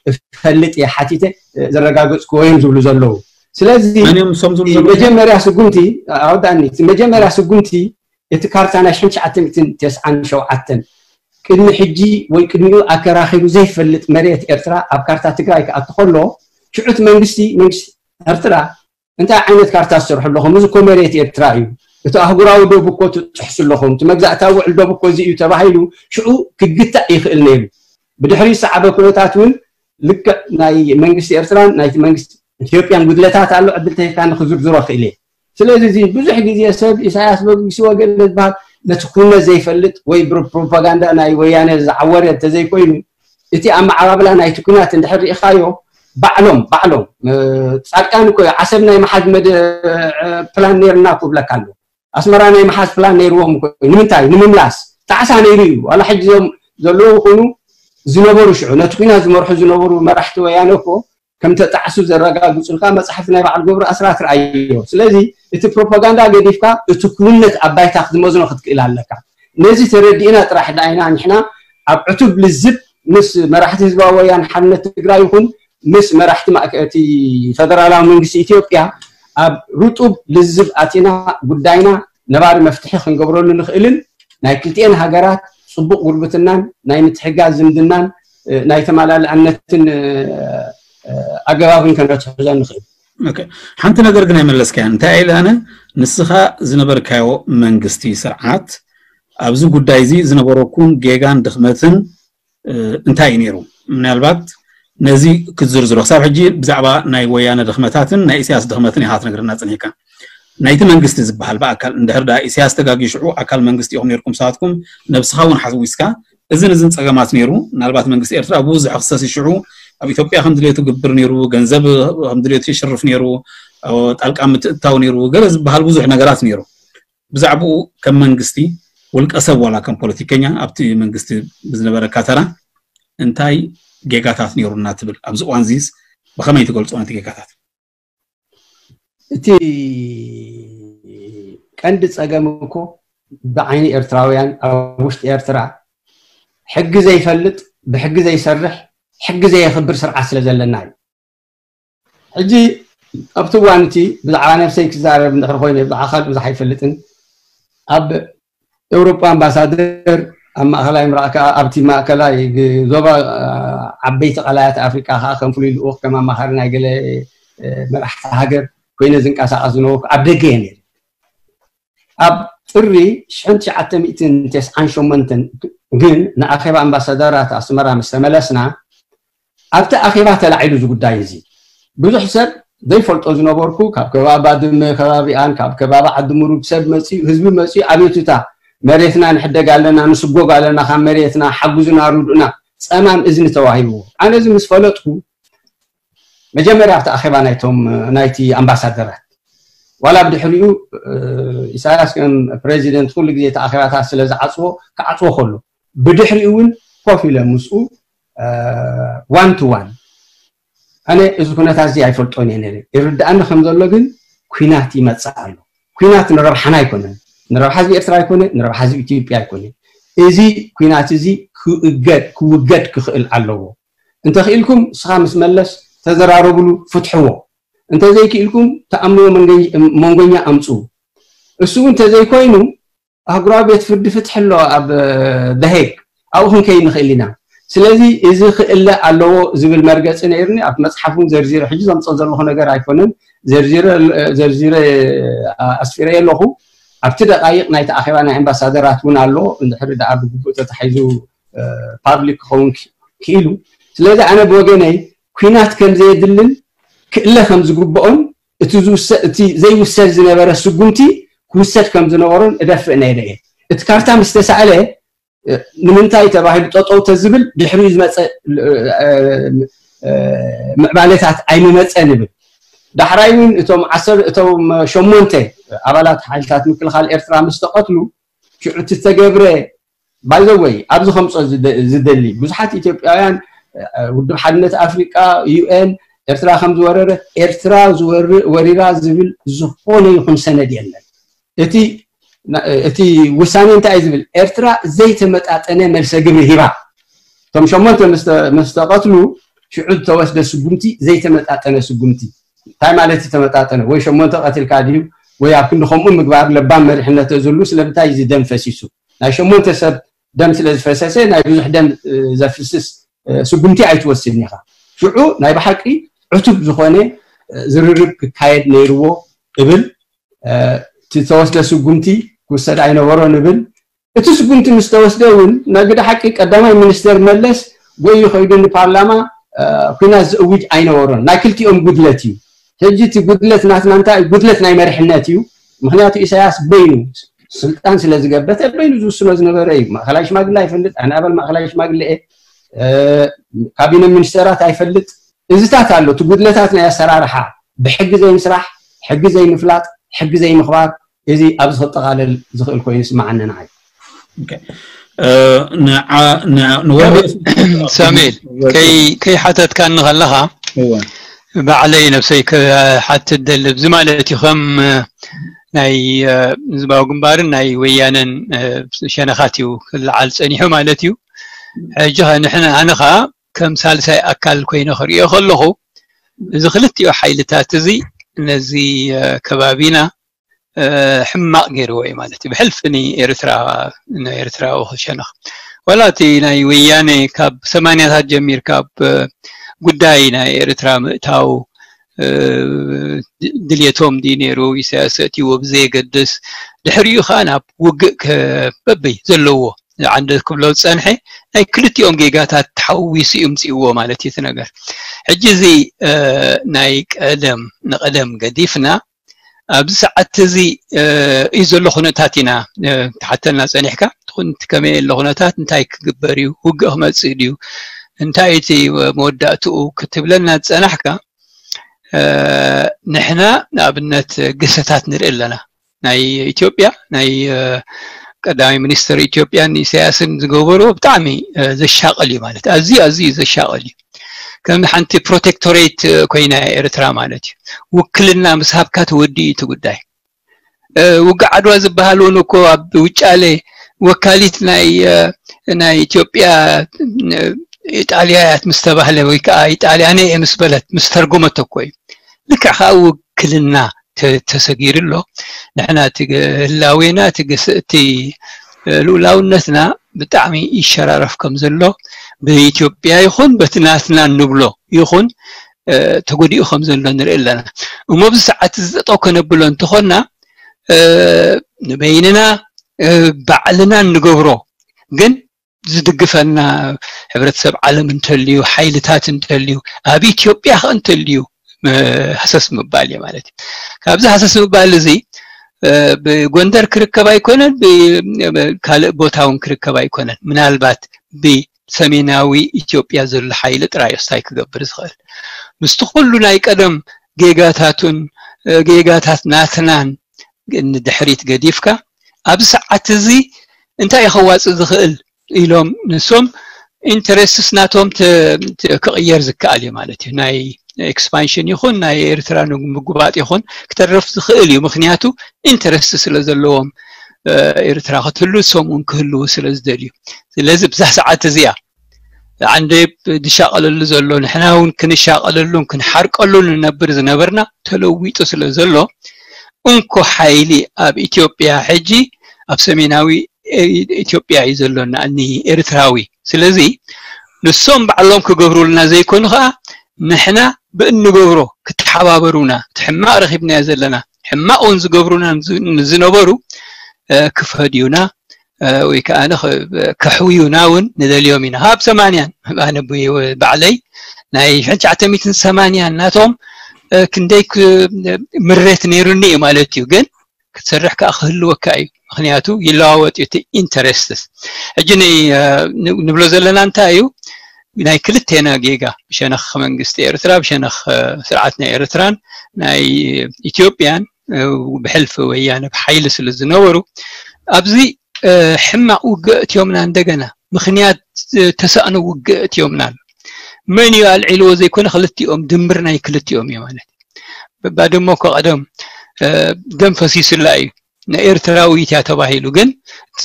እፈልጥ እየ፣ ሓቲተ ዘረጋገፅኩዎ እዮም ዝብሉ ዘለዉ። ስለዚ መን እዮም እሶም ዝብሉ ዘለዉ? መጀመርያ ስጉምቲ ኣወዳእኒ፣ እቲ መጀመርያ ስጉምቲ እቲ ካርታ ናይ ሽሕን ትሽዓተ ሚእትን ተስዓን ሸውዓተን ቅድሚ ሕጂ ወይ ቅድሚኡ ኣከራኺሩ ዘይፈልጥ መሬት ኤርትራ ኣብ ካርታ ትግራይ ክኣቱ ከሎ ሽዑ እቲ መንግስቲ መንግስቲ ኤርትራ እንታይ ዓይነት ካርታ ትሰርሑ ኣለኹም? እዚ እኮ መሬት ኤርትራ እዩ። እቲ ኣህጉራዊ ዶብ እኮ ትጥሕሱ ኣለኹም። እቲ መግዛእታዊ ውዕል ዶብ እኮ እዚ እዩ ተባሂሉ ሽዑ ክግታእ ይኽእል ነይሩ። ብድሕሪ ዝሰዓበ ኩነታት እውን ልክዕ ናይ መንግስቲ ኤርትራን ናይቲ መንግስቲ ኢትዮጵያን ጉድለታት ኣሎ። ዕድል ተሂብካ ንክዝርዝሮ ክእል እየ። ስለዚ እዚ ብዙሕ ግዜ ሰብ ኢሳያስ በጊስዎ ገለ ዝበሃል ነቲ ኩነት ዘይፈልጥ ወይ ብፕሮፓጋንዳ ናይ ወያነ ዝዓወረ እንተዘይኮይኑ እቲ ኣመዓባብላ ናይቲ ኩናት እንድሕር ርኢኻዮ ባዕሎም ባዕሎም እ፣ ጻድቃን እኮ እዩ ዓሰብ ናይ መሓዝ መደ እ፣ ፕላን ነይርና እኮ ብለካ ኣሎ። ኣስመራ ናይ መሓዝ ፕላን ነይርዎም እኮ እዩ። ንምንታይ ንምምላስ ጣዕሳ ነይሩ እዩ። ዋላ ሕጂ ዞም ዘለዉ ይኹኑ ዝነበሩ ሽዑ ነቲ ኩናት ዝመርሑ ዝነበሩ መራሕቲ ወያነ እኮ ከም ተጣዕሱ ዘረጋግጹልካ መጽሓፍቲ ናይ በዓል ገብሩ ኣስራት ርኣዮ። ስለዚ እቲ ፕሮፓጋንዳ ገዲፍካ እቲ ክውነት ኣብ ባይታ ክትመዝኖ ክትክእል ኣለካ። ነዚ ተረዲእና ጥራሕ ዳይና ንሕና ኣብ ዕቱብ ልዝብ ምስ መራሕቲ ህዝባዊ ወያነ ሓርነት ትግራይ ይኹን ምስ መራሕቲ ማእከ- እቲ ፈደራላዊ መንግስቲ ኢትዮጵያ ኣብ ርጡብ ልዝብ ኣቲና ጉዳይና ነባሪ መፍትሒ ክንገብረሉ ንኽእልን ናይ ክልቲኤን ሃገራት ጽቡቕ ጉርብትናን ናይ ምትሕጋዝ ዝምድናን እ፣ ናይ ተመላልኣነትን እ፣ እ፣ ኣገባብን ከነትሕዞ ንኽእል። ኦኬ፣ ሓንቲ ነገር ግን ኣይመለስካያን። እንታይ ኢለ ኣነ ንስኻ ዝነበርካዮ መንግስቲ ስርዓት ኣብዚ ጉዳይ እዚ ዝነበረኩም ጌጋን ድኽመትን እ፣ እንታይ እዩ ነይሩ? ምናልባት ነዚ ክትዝርዝሮ ክሳብ ሕጂ ብዛዕባ ናይ ወያነ ድኽመታትን ናይ ኢሳያስ ድኽመትን ኢኻ ትነግረና ጸኒሕካ። ናይቲ መንግስቲ ዝበሃል ብኣካል እንድሕር ደኣ ኢሳያስ ተጋግዩ ሽዑ ኣካል መንግስቲ ኢኹም ነይርኩም ንስኻትኩም ነብስኻ እውን ሓዊስካ እዝን እዝን ጸገማት ነይሩ። ምናልባት መንግስቲ ኤርትራ ብዙሕ ክሰስ ሽዑ ኣብ ኢትዮጵያ ከም ድሌቱ ግብር ነይሩ፣ ገንዘብ ከም ድሌቱ ይሽርፍ ነይሩ፣ ጣልቃ ምትእታው ነይሩ፣ ገለ ዝበሃል ብዙሕ ነገራት ነይሩ። ብዛዕባኡ ከም መንግስቲ ውልቀ ሰብ ዋላ ከም ፖለቲከኛ ኣብቲ መንግስቲ ብዝነበረካ ተራ እንታይ ጌጋታት ነይሩና ትብል? ኣብዚ እዋን እዚስ ብኸመይ ትገልጾ ነቲ ጌጋታት? እቲ ቀንዲ ጸገም እኮ ብዓይኒ ኤርትራውያን ኣብ ውሽጢ ኤርትራ ሕጊ ዘይፈልጥ፣ ብሕጊ ዘይሰርሕ፣ ሕጊ ዘየኽብር ስርዓት ስለ ዘለና እዩ። ሕጂ ኣብቲ እዋን እቲ ብዛዕባ ነብሰይ ክዛረብ እንድሕር ኮይነ ብኣኻል ብዙሕ ኣይፈልጥን። ኣብ ኤውሮጳ ኣምባሳደር፣ ኣብ ማእኸላይ ምብራቕ ከዓ ኣብቲ ማእከላይ ግ- ዞባ አ፣ ዓበይቲ ቀላያት ኣፍሪቃ ከዓ ከም ፍሉይ ልኡኽ ከም ኣማኻሪ ናይ ገለ እ፣ መራሕቲ ሃገር ኮይነ ዝንቀሳቐስ ዝነበርኩ ኣብ ደገ እየ ነይረ። ኣብ ጥሪ ሽሕን ትሽዓተ ሚእትን ተስዓን ሸሞንተን ግን ንኣኼባ ኣምባሳደራት ኣስመራ ምስ ተመለስና ኣብቲ ኣኼባ ተላዒሉ እዚ ጉዳይ እዚ ብዙሕ ሰብ ዘይፈልጦ ዝነበርኩ ካብ ከባቢ ባድመ ከባቢኣን ካብ ከባቢ ዓዲ ሙሩግ ሰብ መፅኡ ህዝቢ መፅኡ ኣቤቱታ መሬትና ንሕደግ ኣለና ንስጎግ ኣለና ካብ መሬትና ሓጉዝና ርድኡና ፀማም እዝኒ ተዋሂብዎ ኣነ እዚ ምስ ፈለጥኩ መጀመርያ ኣብቲ ኣኼባ ናይቶም ናይቲ ኣምባሳደራት ዋላ ብድሕሪኡ ኢሳያስ ከም ፕሬዚደንት ኩሉ ግዜ እቲ ኣኼባታት ስለ ዝዓፅዎ ክዓፅዎ ከሎ ብድሕሪኡ እውን ኮፍ ኢለ ምስኡ ዋን ቱ ዋን ኣነ እዚ ኩነታት እዚ ኣይፈልጦን እየ ነይረ ይርድኣኒ ከም ዘሎ ግን ኩናት ይመፅእ ኣሎ ኩናት ንረብሓና ኣይኮነን ንረብሓ ህዝቢ ኤርትራ ኣይኮነ ንረብሓ ህዝቢ ኢትዮጵያ ኣይኮነ እዚ ኩናት እዚ ክእገድ ክውገድ ክኽእል ኣለዎ እንተኽኢልኩም ንስኻ ምስ መለስ ተዘራረብሉ ፍትሕዎ እንተዘይክኢልኩም ተኣምንዎ መንጎኛ ኣምፅኡ እሱ እውን እንተዘይኮይኑ ኣህጉራዊ ቤት ፍርዲ ፍትሒ ኣሎ ኣብ ደሄግ ኣብኡ ክንከይድ ንኽእል ኢና ስለዚ እዚ ክእለ ኣለዎ ዝብል መርገፂ ነይሩኒ ኣብቲ መፅሓፍ እውን ዘርዚረ ሕጂ ዘምፀ ዘለኹ ነገር ኣይኮነን ዘርዚረ ኣስፊረ ኣለኹ ኣብቲ ደቃይቕ ናይቲ ኣኼባ ናይ ኣምባሳደራት እውን ኣሎ እንድሕሪ ደኣ ብግቡእ ተታሒዙ ፓብሊክ ክኸውን ክኢሉ ስለዚ ኣነ ብወገነይ ኩናት ከም ዘየድልን ክእለ ከም ዝግብኦን እቲ ዘይውሰድ ዝነበረ ስጉምቲ ክውሰድ ከም ዝነበሮን እደፍእ ነይረ እየ እቲ ካርታ ምስ ተሳእለ ንምንታይ ተባሂሉ ጠጠው ተዝብል ድሕሪኡ ዝመፀ ምዕባለታት ኣይምመፀን ይብል ዳሕራይ እውን እቶም ዓሰር እቶም ሸሞንተ ኣባላት ሓይልታት ምክልኻል ኤርትራ ምስ ተቐትሉ ሽዑ እቲ ዝተገብረ ባይዘወይ ኣብዚ ከምፆ ዝደሊ ብዙሓት ኢትዮጵያውያን ውድብ ሓድነት ኣፍሪቃ ዩኤን ኤርትራ ከም ዝወረረ ኤርትራ ወሪራ ዝብል ዝኾነ ይኹን ሰነድ የለን እቲ እቲ ውሳኔ እንታይ እዩ ዝብል ኤርትራ ዘይተመጣጠነ መልሰ ግብሪ ሂባ እቶም ሸሞንተ ምስ ተቐትሉ ሽዑ ዝተወስደ ስጉምቲ ዘይተመጣጠነ ስጉምቲ እንታይ ማለት እዩ ተመጣጠነ ወይ ሸሞንተ ቀትልካ ድዩ ወይ ኣብ ክንዲ ከምኡ ምግባር ለባም መሪሕነት ዝህሉ ስለምንታይ እዚ ደም ፈሲሱ ናይ ሸሞንተ ሰብ ደም ስለ ዝፈሰሰ ናይ ብዙሕ ደም ዘፍስስ ስጉምቲ ኣይትወስድን ኢኻ ሽዑ ናይ ብሓቂ ዕቱብ ዝኾነ ዝርርብ ክካየድ ነይርዎ እብል እቲ ዝተወስደ ስጉምቲ ክውሰድ ኣይነበሮን እብል እቲ ስጉምቲ ምስ ተወስደ እውን ናይ ግደ ሓቂ ቀዳማይ ሚኒስተር መለስ ጎዩ ከይዱ ንፓርላማ ኩናት ዝእውጅ ኣይነበሮን ናይ ክልቲኦም ጉድለት እዩ ሕጂ እቲ ጉድለት ናትና እንታይ ጉድለት ናይ መሪሕነት እዩ ምክንያቱ ኢሳያስ በይኑ ስልጣን ስለ ዝገበተ በይኑ ዝውስኖ ዝነበረ እዩ ማእኸላይ ሽማግለ ኣይፈልጥ ኣነ ኣባል ማእኸላይ ሽማግለ እየ ካቢነ ሚኒስተራት ኣይፈልጥ እዚታት ኣሎ እቲ ጉድለታት ናይ ኣሰራርሓ ብሕጊ ዘይምስራሕ ሕጊ ዘይምፍላጥ ሕጊ ዘይምኽባር እዚ ኣብዚ ክጠቓለል ዝኽእል ኮይኑ ይስምዓኒ ንዓይ ሳሙኤል ከይሓተትካኒ ከለኻ ባዕለይ ነብሰይ ክሓትት ደሊ እዚ ማለት እዩ ከም ናይ ህዝባዊ ግንባርን ናይ ወያነን ሸነኻት እዩ ክለዓል ፀኒሑ ማለት እዩ ሕጂ ንሕና ኣነ ከዓ ከም ሳልሳይ ኣካል ኮይነ ክሪኦ ከለኹ እዚ ክልቲኡ ሓይልታት እዚ ነዚ ከባቢና ሕማቕ ገይርዎ እዩ ማለት እዩ ብሕልፊ ንኤርትራ ንኤርትራዊ ክሸነኽ ወላ እቲ ናይ ወያነ ካብ ሰማንያታት ጀሚርካ ኣብ ጉዳይ ናይ ኤርትራ ምእታው ድልየቶም ድዩ ነይሩ ኢሳያስ ኣእትይዎ ብዘየገድስ ድሕሪኡ ከዓ ናብ ውግእ በበይ ዘለዎ ዓንደ ክብሎ ዝፀንሐ ናይ ክልቲኦም ጌጋታት ተሓዊሱ እዩ ምፅእዎ ማለት እዩ እቲ ነገር ሕጂ እዚ ናይ ቀደም ንቀደም ገዲፍና ኣብዚ ሰዓት እዚ እዩ ዘሎ ኩነታት ኢና ትሓተልና ፀኒሕካ ትኹን እቲ ከመይ ኣሎ ኩነታት እንታይ ክግበር እዩ፣ ውግእ ክመጽእ ድዩ፣ እንታይ እቲ መወዳእትኡ ክትብለና ዝጸናሕካ፣ ንሕና ንኣብነት ግሰታት ንርኢ ኣለና። ናይ ኢትዮጵያ ናይ ቀዳማይ ሚኒስትር ኢትዮጵያን ኢሳያስን ዝገበርዎ ብጣዕሚ ዘሻቕል እዩ፣ ማለት ኣዝዩ ኣዝዩ ዘሻቕል እዩ። ከም ሓንቲ ፕሮቴክቶሬት ኮይና ኤርትራ ማለት እዩ። ውክልና ምስ ሃብካ ተወዲኡ እቲ ጉዳይ። ውግእ ዓድዋ ዝበሃል እውን እኮ ኣብ ውጫሌ ወካሊት ናይ ናይ ኢትዮጵያ ኢጣልያ እያ ምስ ተባህለ ወይ ከዓ ኢጣልያነ እየ ምስ በለት ምስ ተርጎመቶ እኮ እዩ። ልክዕ ከዓ ውክልና ተሰጊሩ ኣሎ። ንሕና እቲ ህላዌና እቲ ልኡላውነትና ብጣዕሚ ይሸራረፍ ከም ዘሎ ብኢትዮጵያ ይኹን በቲ ናትና እንብሎ ይኹን ተጎዲኡ ከም ዘሎ ንርኢ ኣለና። እሞ ኣብዚ ሰዓት እዚ ጠጠው ከነብሎ እንተኾንና ንበይንና ባዕልና እንገብሮ ግን ዝድግፈና ሕብረተሰብ ዓለም እንተልዩ፣ ሓይልታት እንተልዩ፣ ኣብ ኢትዮጵያ ከ እንተልዩ ሃሰስ ምባል እየ ማለት እዩ። ካብዚ ሃሰስ ምባል እዚ ብጎንደር ክርከብ ኣይኮነን፣ ካልእ ቦታ እውን ክርከብ ኣይኮነን። ምናልባት ብሰሜናዊ ኢትዮጵያ ዘሎ ሓይሊ ጥራይ እዩ ስታይ ክገብር ዝኽእል። ምስቲ ኩሉ ናይ ቀደም ጌጋታቱን ጌጋታት ናትናን ንድሕሪት ገዲፍካ ኣብዚ ሰዓት እዚ እንታይ እዩ ከዋፅእ ዝኽእል ኢሎም ንሶም ኢንተረስትስ ናቶም ክቕየር ዝከኣል እዩ ማለት እዩ። ናይ ኤክስፓንሽን ይኹን ናይ ኤርትራ ንምጉባጥ ይኹን ክተርፍ ዝኽእል እዩ። ምክንያቱ ኢንተረስት ስለ ዘለዎም ኤርትራ ክትህሉ ንሶም እውን ክህልዉ ስለ ዝደልዩ። ስለዚ ብዛ ሰዓት እዚኣ ዓንዴብ ዝሻቐለሉ ዘሎ ንሕና እውን ክንሻቐለሉን ክንሓርቀሉን ንነብር ዝነበርና ተለዊጡ ስለ ዘሎ እንኮ ሓይሊ ኣብ ኢትዮጵያ ሕጂ ኣብ ሰሜናዊ ኢትዮጵያ እዩ ዘሎና እኒ ኤርትራዊ። ስለዚ ንሶም ባዕሎም ክገብሩልና ዘይኮኑ ከዓ ንሕና ብእንገብሮ ክተሓባበሩና፣ እቲ ሕማቕ ረኺብናዮ ዘለና ሕማቕ እውን ዝገብሩና ዝነበሩ ክፈድዩና ወይ ከዓ ከሕውዩና እውን ንደልዮም ኢና። ካብ ሰማንያን ኣነ ባዕለይ ናይ ሽሕን ትሽዓተ ሚእትን ሰማንያን ናቶም ክንደይ ምሬት ነይሩኒ እዩ ማለት እዩ። ግን ክትሰርሕ ከዓ ክህልወካ እዩ። ምክንያቱ ይለዋወጥ እዩ እቲ ኢንተረስትስ። ሕጂ ንብሎ ዘለና እንታይ እዩ? ናይ ክልቴና ጌጋ ብሸነኽ መንግስቲ ኤርትራ፣ ብሸነኽ ስርዓት ናይ ኤርትራን ናይ ኢትዮጵያን ብሕልፊ ወያነ ብሓይሊ ስለ ዝነበሩ ኣብዚ ሕማቕ ውግእ እትዮምና እንደገና ምክንያት ተሳእኖ ውግእ እትዮምና ኣሎ። መን እዩ ኣልዒልዎ ዘይኮነ ክልቲኦም ድምር ናይ ክልቲኦም እዩ ማለት እዩ። ባድመ እኮ ቀደም ደም ፈሲሱላ እዩ፣ ናይ ኤርትራዊት እያ ተባሂሉ። ግን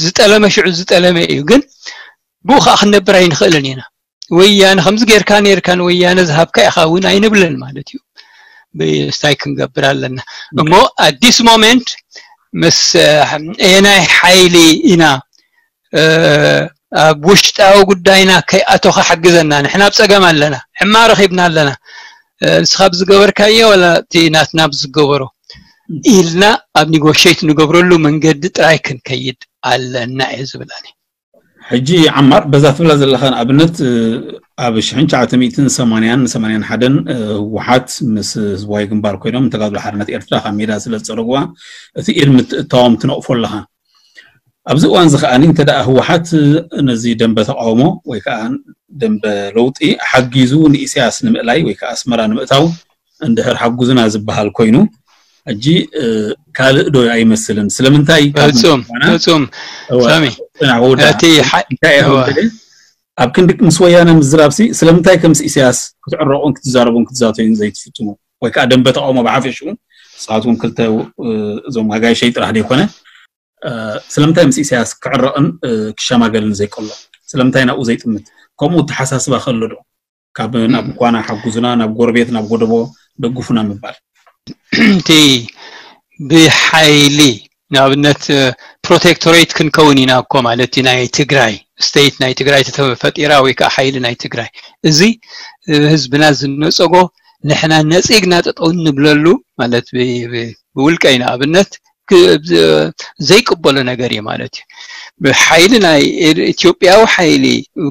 ዝጠለመ ሽዑ ዝጠለመ እዩ። ግን ብኡ ከዓ ክንነብር ኣይንኽእልን ኢና። ወያነ ከምዚ ጌርካ ኔርካ ንወያነ ዝሃብካ ኢኻ እውን ኣይንብልን ማለት እዩ። ብስታይ ክንገብር ኣለና እሞ ኣዲስ ሞሜንት ምስ ኤናይ ሓይሊ ኢና ኣብ ውሽጣዊ ጉዳይና ከይኣቶኻ ሓግዘና። ንሕና ኣብ ፀገም ኣለና፣ ሕማ ረኺብና ኣለና። ንስኻ ብዝገበርካዮ ወላ እቲ ናትና ብዝገበሮ ኢልና ኣብ ኒጎሽት ንገብረሉ መንገዲ ጥራይ ክንከይድ ኣለና እየ ዝብል ኣነ። ሕጂ ዓማር በዛ ትብላ ዘለኻ ንኣብነት ኣብ ሽሕን ትሽዓተ ሚእትን ሰማንያን ሰማንያን ሓደን ህወሓት ምስ ህዝባዊ ግንባር ኮይኖም ንተጋድሎ ሓርነት ኤርትራ ካብ ሜዳ ስለ ዝፀረግዋ እቲ ኢድ ምትእታዎም ትነቕፎ ኣለኻ። ኣብዚ እዋን እዚ ከኣ እንተ ደኣ ህወሓት ነዚ ደንበ ተቃውሞ ወይ ከዓ ደንበ ለውጢ ሓጊዙ ንኢሳያስ ንምእላይ ወይ ከዓ ኣስመራ ንምእታው እንድሕር ሓጉዝና ዝበሃል ኮይኑ ሕጂ ካልእ ዶ ኣይመስልን? ስለምንታይ ፍጹም ፍጹም ሳሚ እቲ እንታይ እዮም ኣብ ክንዲ ምስ ወያነ ምዝራብሲ ስለምንታይ ከምስ ኢሳያስ ክትዕረቑን ክትዛረቡን ክትዛተዩን ዘይትፍትኑ ወይ ከዓ ደንበ ተቃውሞ ብሓፈሽኡ ንስኻትኩም ክልተ እዞም ኣጋይሸይ ጥራሕ ዘይኮነ ስለምንታይ ምስ ኢሳያስ ክዕረቕን ክሸማገልን ዘይቀሎ? ስለምንታይ ናብኡ ዘይጥምት? ከምኡ ተሓሳስባ ከሎ ዶ? ካብ ናብ ኳና ሓጉዝና፣ ናብ ጎረቤት፣ ናብ ጎደቦ ደግፉና ምባል። እቲ ብሓይሊ ንኣብነት ፕሮቴክቶሬት ክንከውን ኢና እኮ ማለት እዩ። ናይ ትግራይ ስቴት ናይ ትግራይ ተፈጢራ ወይ ከዓ ሓይሊ ናይ ትግራይ እዚ ህዝብና ዝነፀጎ ንሕና ነፂግና ጠጠው እንብለሉ ማለት ብውልቀይ ንኣብነት ዘይቅበሎ ነገር እዩ ማለት እዩ። ብሓይሊ ናይ ኢትዮጵያዊ ሓይሊ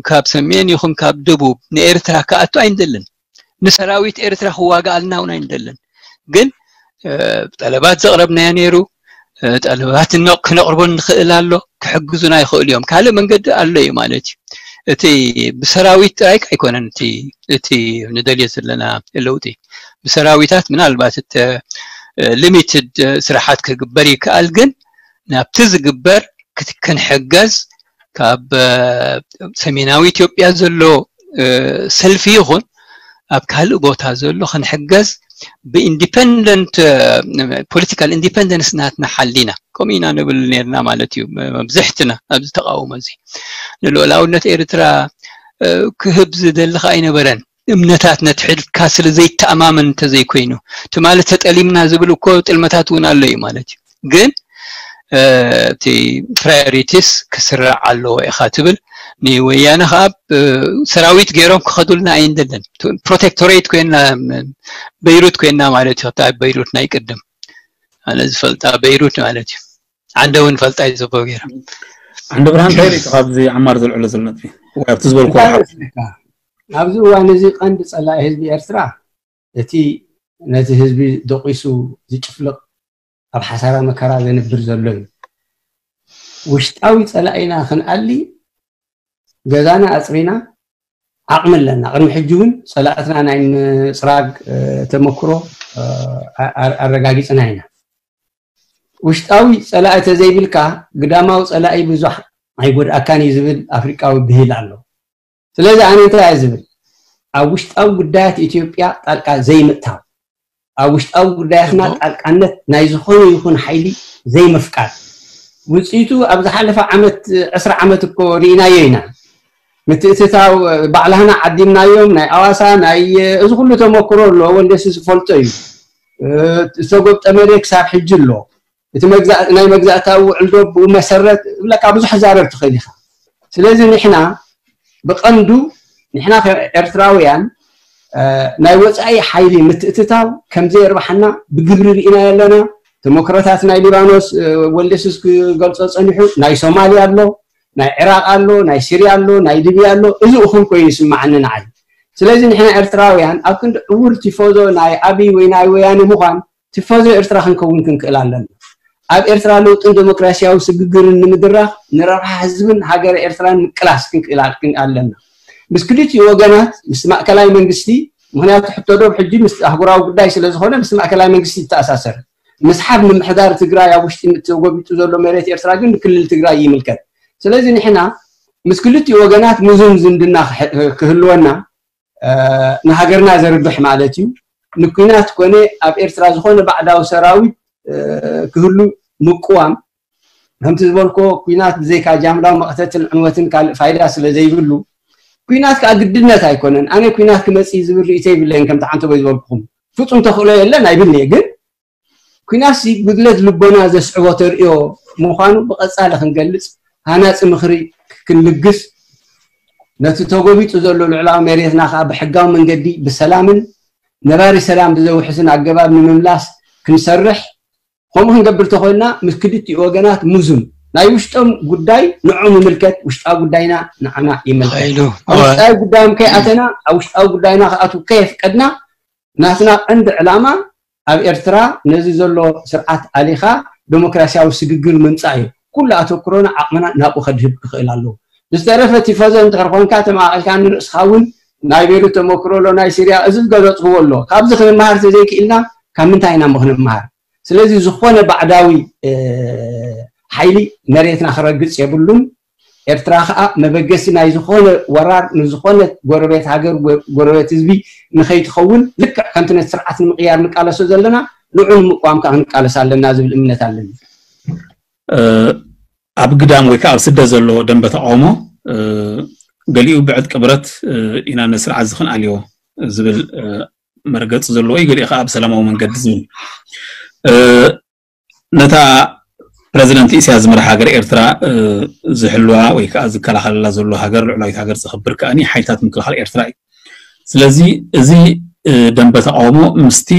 ካብ ሰሜን ይኹን ካብ ደቡብ ንኤርትራ ክኣቱ ኣይንደልን። ንሰራዊት ኤርትራ ክዋጋኣልና እውን ኣይንደልን። ግን ጠለባት ዘቕረብናዮ ነይሩ። ጠለባት ክነቕርቦ ንኽእል ኣሎ። ክሕግዙና ይኽእሉ እዮም። ካልእ መንገዲ ኣሎ እዩ ማለት እዩ። እቲ ብሰራዊት ጥራይ ኣይኮነን እቲ እቲ ንደልዮ ዘለና ለውጢ። ብሰራዊታት ምናልባት እቲ ሊሚትድ ስራሓት ክግበር ይከኣል፣ ግን ናብቲ ዝግበር ክንሕገዝ ካብ ሰሜናዊ ኢትዮጵያ ዘሎ ሰልፊ ይኹን ኣብ ካልእ ቦታ ዘሎ ክንሕገዝ ብኢንዲፐንደንት ፖለቲካል ኢንዲፐንደንስ ናትና ሓሊና ከምኡ ኢና ንብል ነርና ማለት እዩ። መብዝሕትና ኣብዚ ተቃውሞ እዚ ንልኡላውነት ኤርትራ ክህብ ዝደሊ ከኣ ኣይነበረን። እምነታት ነትሕድካ ስለ ዘይተኣማመን እንተዘይኮይኑ፣ እቲ ማለት ተጠሊምና ዝብል እኮ ጥልመታት እውን ኣሎ እዩ ማለት እዩ። ግን እቲ ፕራዮሪቲስ ክስራዕ ኣለዎ ኢኻ ትብል። ንወያነ ከዓ ሰራዊት ገይሮም ክኸዱልና ኣይንደልን። ፕሮቴክቶሬት ኮይና፣ በይሩት ኮይና ማለት እዩ። ኣብ በይሩት ናይ ቅድም ኣነ ዝፈልጣ በይሩት ማለት እዩ። ዓንደ እውን ፈልጣ እዩ ዘቦ ገይራ። ዓንደ ብርሃን እንታይ ሪኢኻ ኣብዚ ዓማር ዘልዕሎ ዘሎ ነጥቢ ወይ ኣብቲ ዝበልኩ? ኣብዚ እዋን እዚ ቀንዲ ጸላኢ ህዝቢ ኤርትራ እቲ ነቲ ህዝቢ ደቂሱ ዝጭፍልቕ ኣብ ሓሳራ መከራ ዘንብር ዘሎ እዩ። ውሽጣዊ ጸላኢና ክንኣሊ ገዛና ኣጽሪና ዓቕሚ ኣለና። ቅድሚ ሕጂ እውን ጸላእትና ናይ ምጽራግ ተመክሮ ኣረጋጊጽና ኢና። ውሽጣዊ ጸላኢ ተዘይብልካ ግዳማዊ ጸላኢ ብዙሕ ኣይጎድኣካን እዩ ዝብል ኣፍሪቃዊ ብሂል ኣሎ። ስለዚ ኣነ እንታይ እየ ዝብል፣ ኣብ ውሽጣዊ ጉዳያት ኢትዮጵያ ጣልቃ ዘይምእታው፣ ኣብ ውሽጣዊ ጉዳያትና ጣልቃነት ናይ ዝኾነ ይኹን ሓይሊ ዘይምፍቃድ። ውፅኢቱ ኣብ ዝሓለፈ ዓመት ዕስራ ዓመት እኮ ርኢናዮ ኢና። ምትእትታው ባዕላህና ዓዲምናዮም። ናይ ኣዋሳ ናይ እዚ ኩሉ ተመክሮ ኣሎ፣ ወልደሲ ዝፈልጦ እዩ። ዝተጎብጠ መሬት ክሳብ ሕጂ ኣሎ። እቲ ናይ መግዛእታዊ ውዕል ዶ ብኡ መሰረት ብለካ ብዙሕ ዛረብ ትኽእል ኢኻ። ስለዚ ንሕና ብቐንዱ ንሕና ከም ኤርትራውያን ናይ ወፃኢ ሓይሊ ምትእትታው ከምዘየርባሓና ብግብሪ ርኢና ኣለና። ተመክሮታት ናይ ሊባኖስ ወልደስስ ክገልፆ ፀኒሑ ናይ ሶማልያ ኣሎ፣ ናይ ዕራቕ ኣሎ፣ ናይ ሲርያ ኣሎ፣ ናይ ሊብያ ኣሎ። እዚ እኹል ኮይኑ ይስማዓኒ ንዓይ። ስለዚ ንሕና ኤርትራውያን ኣብ ክንዲ ዕውር ቲፎዞ ናይ ኣብይ ወይ ናይ ወያነ ምዃን ቲፎዞ ኤርትራ ክንከውን ክንክእል ኣለና። ኣብ ኤርትራ ለውጥን ዴሞክራሲያዊ ስግግርን ንምድራኽ ንረብሓ ህዝብን ሃገረ ኤርትራን ምቅላስ ክንክእል ኣለና። ምስ ክልቲኡ ወገናት ምስ ማእከላይ መንግስቲ፣ ምኽንያቱ ሕቶ ዶብ ሕጂ ምስ ኣህጉራዊ ጉዳይ ስለ ዝኾነ ምስ ማእከላይ መንግስቲ ይተኣሳሰር። ምስሓብ ምምሕዳር ትግራይ ኣብ ውሽጢ ተጎቢጡ ዘሎ መሬት ኤርትራ ግን ንክልል ትግራይ ይምልከት። ስለዚ ንሕና ምስ ክልቲኡ ወገናት ምዙም ዝምድና ክህልወና ንሃገርና ዘርብሕ ማለት እዩ። ንኩናት ኮነ ኣብ ኤርትራ ዝኾነ ባዕዳዊ ሰራዊት ክህሉ ምቅዋም። ከምቲ ዝበልኮ ኩናት ብዘይካ ጃምላዊ መቕተትን ዕንወትን ካልእ ፋይዳ ስለ ዘይብሉ ኩናት ከዓ ግድነት ኣይኮነን። ኣነ ኩናት ክመፅእ ዝብል ርእይቶ የብለይን ከምቲ ዓንተቦይ ዝበልኩኹም ፍፁም ተኽእሎ የለን ኣይብልንየ። ግን ኩናትሲ ጉድለት ልቦና ዘስዕቦ ተርእዮ ምዃኑ ብቐፃሊ ክንገልፅ ሃናፂ ምኽሪ ክንልግስ ነቲ ተጎቢጡ ዘሎ ልዕላዊ መሬትና ከዓ ብሕጋዊ መንገዲ ብሰላምን ነባሪ ሰላም ብዘውሕስን ኣገባብ ንምምላስ ክንሰርሕ ከምኡ ክንገብር ተኾይንና ምስ ክልቲኡ ወገናት ምዙን ናይ ውሽጦም ጉዳይ ንዖም ይምልከት፣ ውሽጣዊ ጉዳይና ንዓና ይምልከት። ኃይሉ ኣብ ውሽጣዊ ጉዳዮም ከይኣተና ኣብ ውሽጣዊ ጉዳይና ክኣትዉ ከየፍቀድና ናትና ቀንዲ ዕላማ ኣብ ኤርትራ ነዚ ዘሎ ስርዓት ኣሊኻ ዴሞክራሲያዊ ስግግር ምምፃእ እዩ። ኩሉ ኣተኩሮና ዓቕምና ናብኡ ከድህብ ክኽእል ኣለዎ። ዝተረፈ ቲፎዞ እንድሕር ኮንካ ተማቒልካ ንርእስኻ እውን ናይ ቤሩት ተመክሮ ኣሎ፣ ናይ ሲርያ እዚ ዝገለፅክዎ ኣሎ። ካብዚ ክንመሃር ተዘይክኢልና ካብ ምንታይ ኢና እሞ ክንመሃር? ስለዚ ዝኾነ ባዕዳዊ ሓይሊ መሬትና ክረግፅ የብሉን። ኤርትራ ከዓ መበገሲ ናይ ዝኾነ ወራር ንዝኾነ ጎረቤት ሃገር ጎረቤት ህዝቢ ንኸይትኸውን ልክዕ ከምቲ ነቲ ስርዓት ንምቕያር ንቃለሶ ዘለና ንዑ ንምቋም ከዓ ክንቃለስ ኣለና ዝብል እምነት ኣለኒ። ኣብ ግዳም ወይ ከዓ ኣብ ስደት ዘሎ ደንበ ተቃውሞ ገሊኡ ብዕጥቂ ብረት ኢና ነስርዓት ዝኽንኣልዮ ዝብል መርገፂ ዘለዎ እዩ፣ ገሊኡ ከዓ ብሰላማዊ መንገዲ ዝብል ነታ ፕረዚደንት ኢሳያስ ዝመርሓ ሃገር ኤርትራ ዝሕልዋ ወይ ከዓ ዝከላኸለላ ዘሎ ሃገር ልዑላዊት ሃገር ዘኽብር ከኣኒ ሓይልታት ምክልኻል ኤርትራ እዩ። ስለዚ እዚ ደንበ ተቃውሞ ምስቲ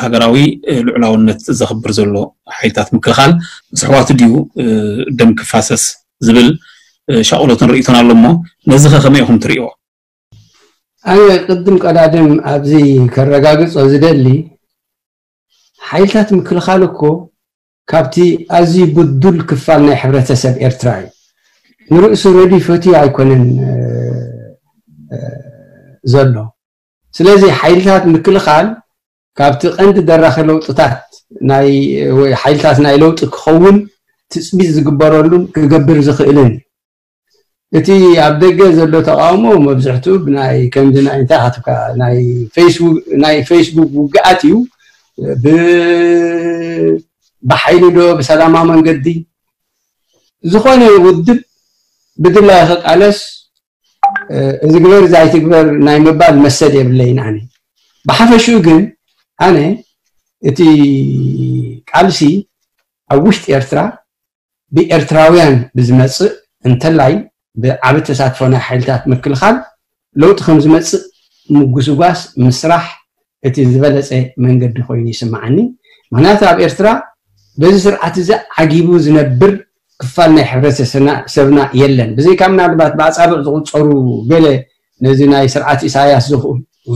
ሃገራዊ ልዑላውነት ዘኽብር ዘሎ ሓይልታት ምክልኻል ምስ ኣሕዋቱ ድዩ ደም ክፋሰስ ዝብል ሻቕሎትን ርእይቶን ኣሎ እሞ ነዚ ከ ከመይ ኢኹም ትርእይዎ? ኣነ ቅድም ቀዳድም ኣብዚ ከረጋግጾ ዝደሊ ሓይልታት ምክልኻል እኮ ካብቲ ኣዝዩ ብዱል ክፋል ናይ ሕብረተሰብ ኤርትራ እዩ። ንርእሱ ረድዩ ፈትዩ ኣይኮነን ዘሎ። ስለዚ ሓይልታት ምክልኻል ካብቲ ቀንዲ ደራኺ ለውጥታት ናይ ወይ ሓይልታት ናይ ለውጢ ክኸውን ትፅቢት ዝግበረሉን ክገብር ዝኽእልን። እቲ ኣብ ደገ ዘሎ ተቃውሞ መብዝሕትኡ ብናይ ከምዚ ናይ እንታይ ሓትካ ናይ ፌስቡክ ናይ ፌስቡክ ውግኣት እዩ። ብ ብሓይሊ ዶ ብሰላማዊ መንገዲ ዝኾነ ውድብ ብድላይ ክቃለስ እዚ ግበር እዚ ኣይትግበር ናይ ምባል መሰል የብለይን ኣነ። ብሓፈሽኡ ግን ኣነ እቲ ቃልሲ ኣብ ውሽጢ ኤርትራ ብኤርትራውያን ብዝመጽእ እንተላይ ብዓቢ ተሳትፎ ናይ ሓይልታት ምክልኻል ለውጢ ከም ዝመጽእ ምጉስጓስ ምስራሕ እቲ ዝበለጸ መንገዲ ኮይኑ ይስምዓኒ። ምክንያቱ ኣብ ኤርትራ በዚ ስርዓት እዚ ዓጊቡ ዝነብር ክፋል ናይ ሕብረተሰብና የለን። ብዘይካ ምናልባት ብኣጻብዕ ዝቑጸሩ ገለ ነዚ ናይ ስርዓት ኢሳያስ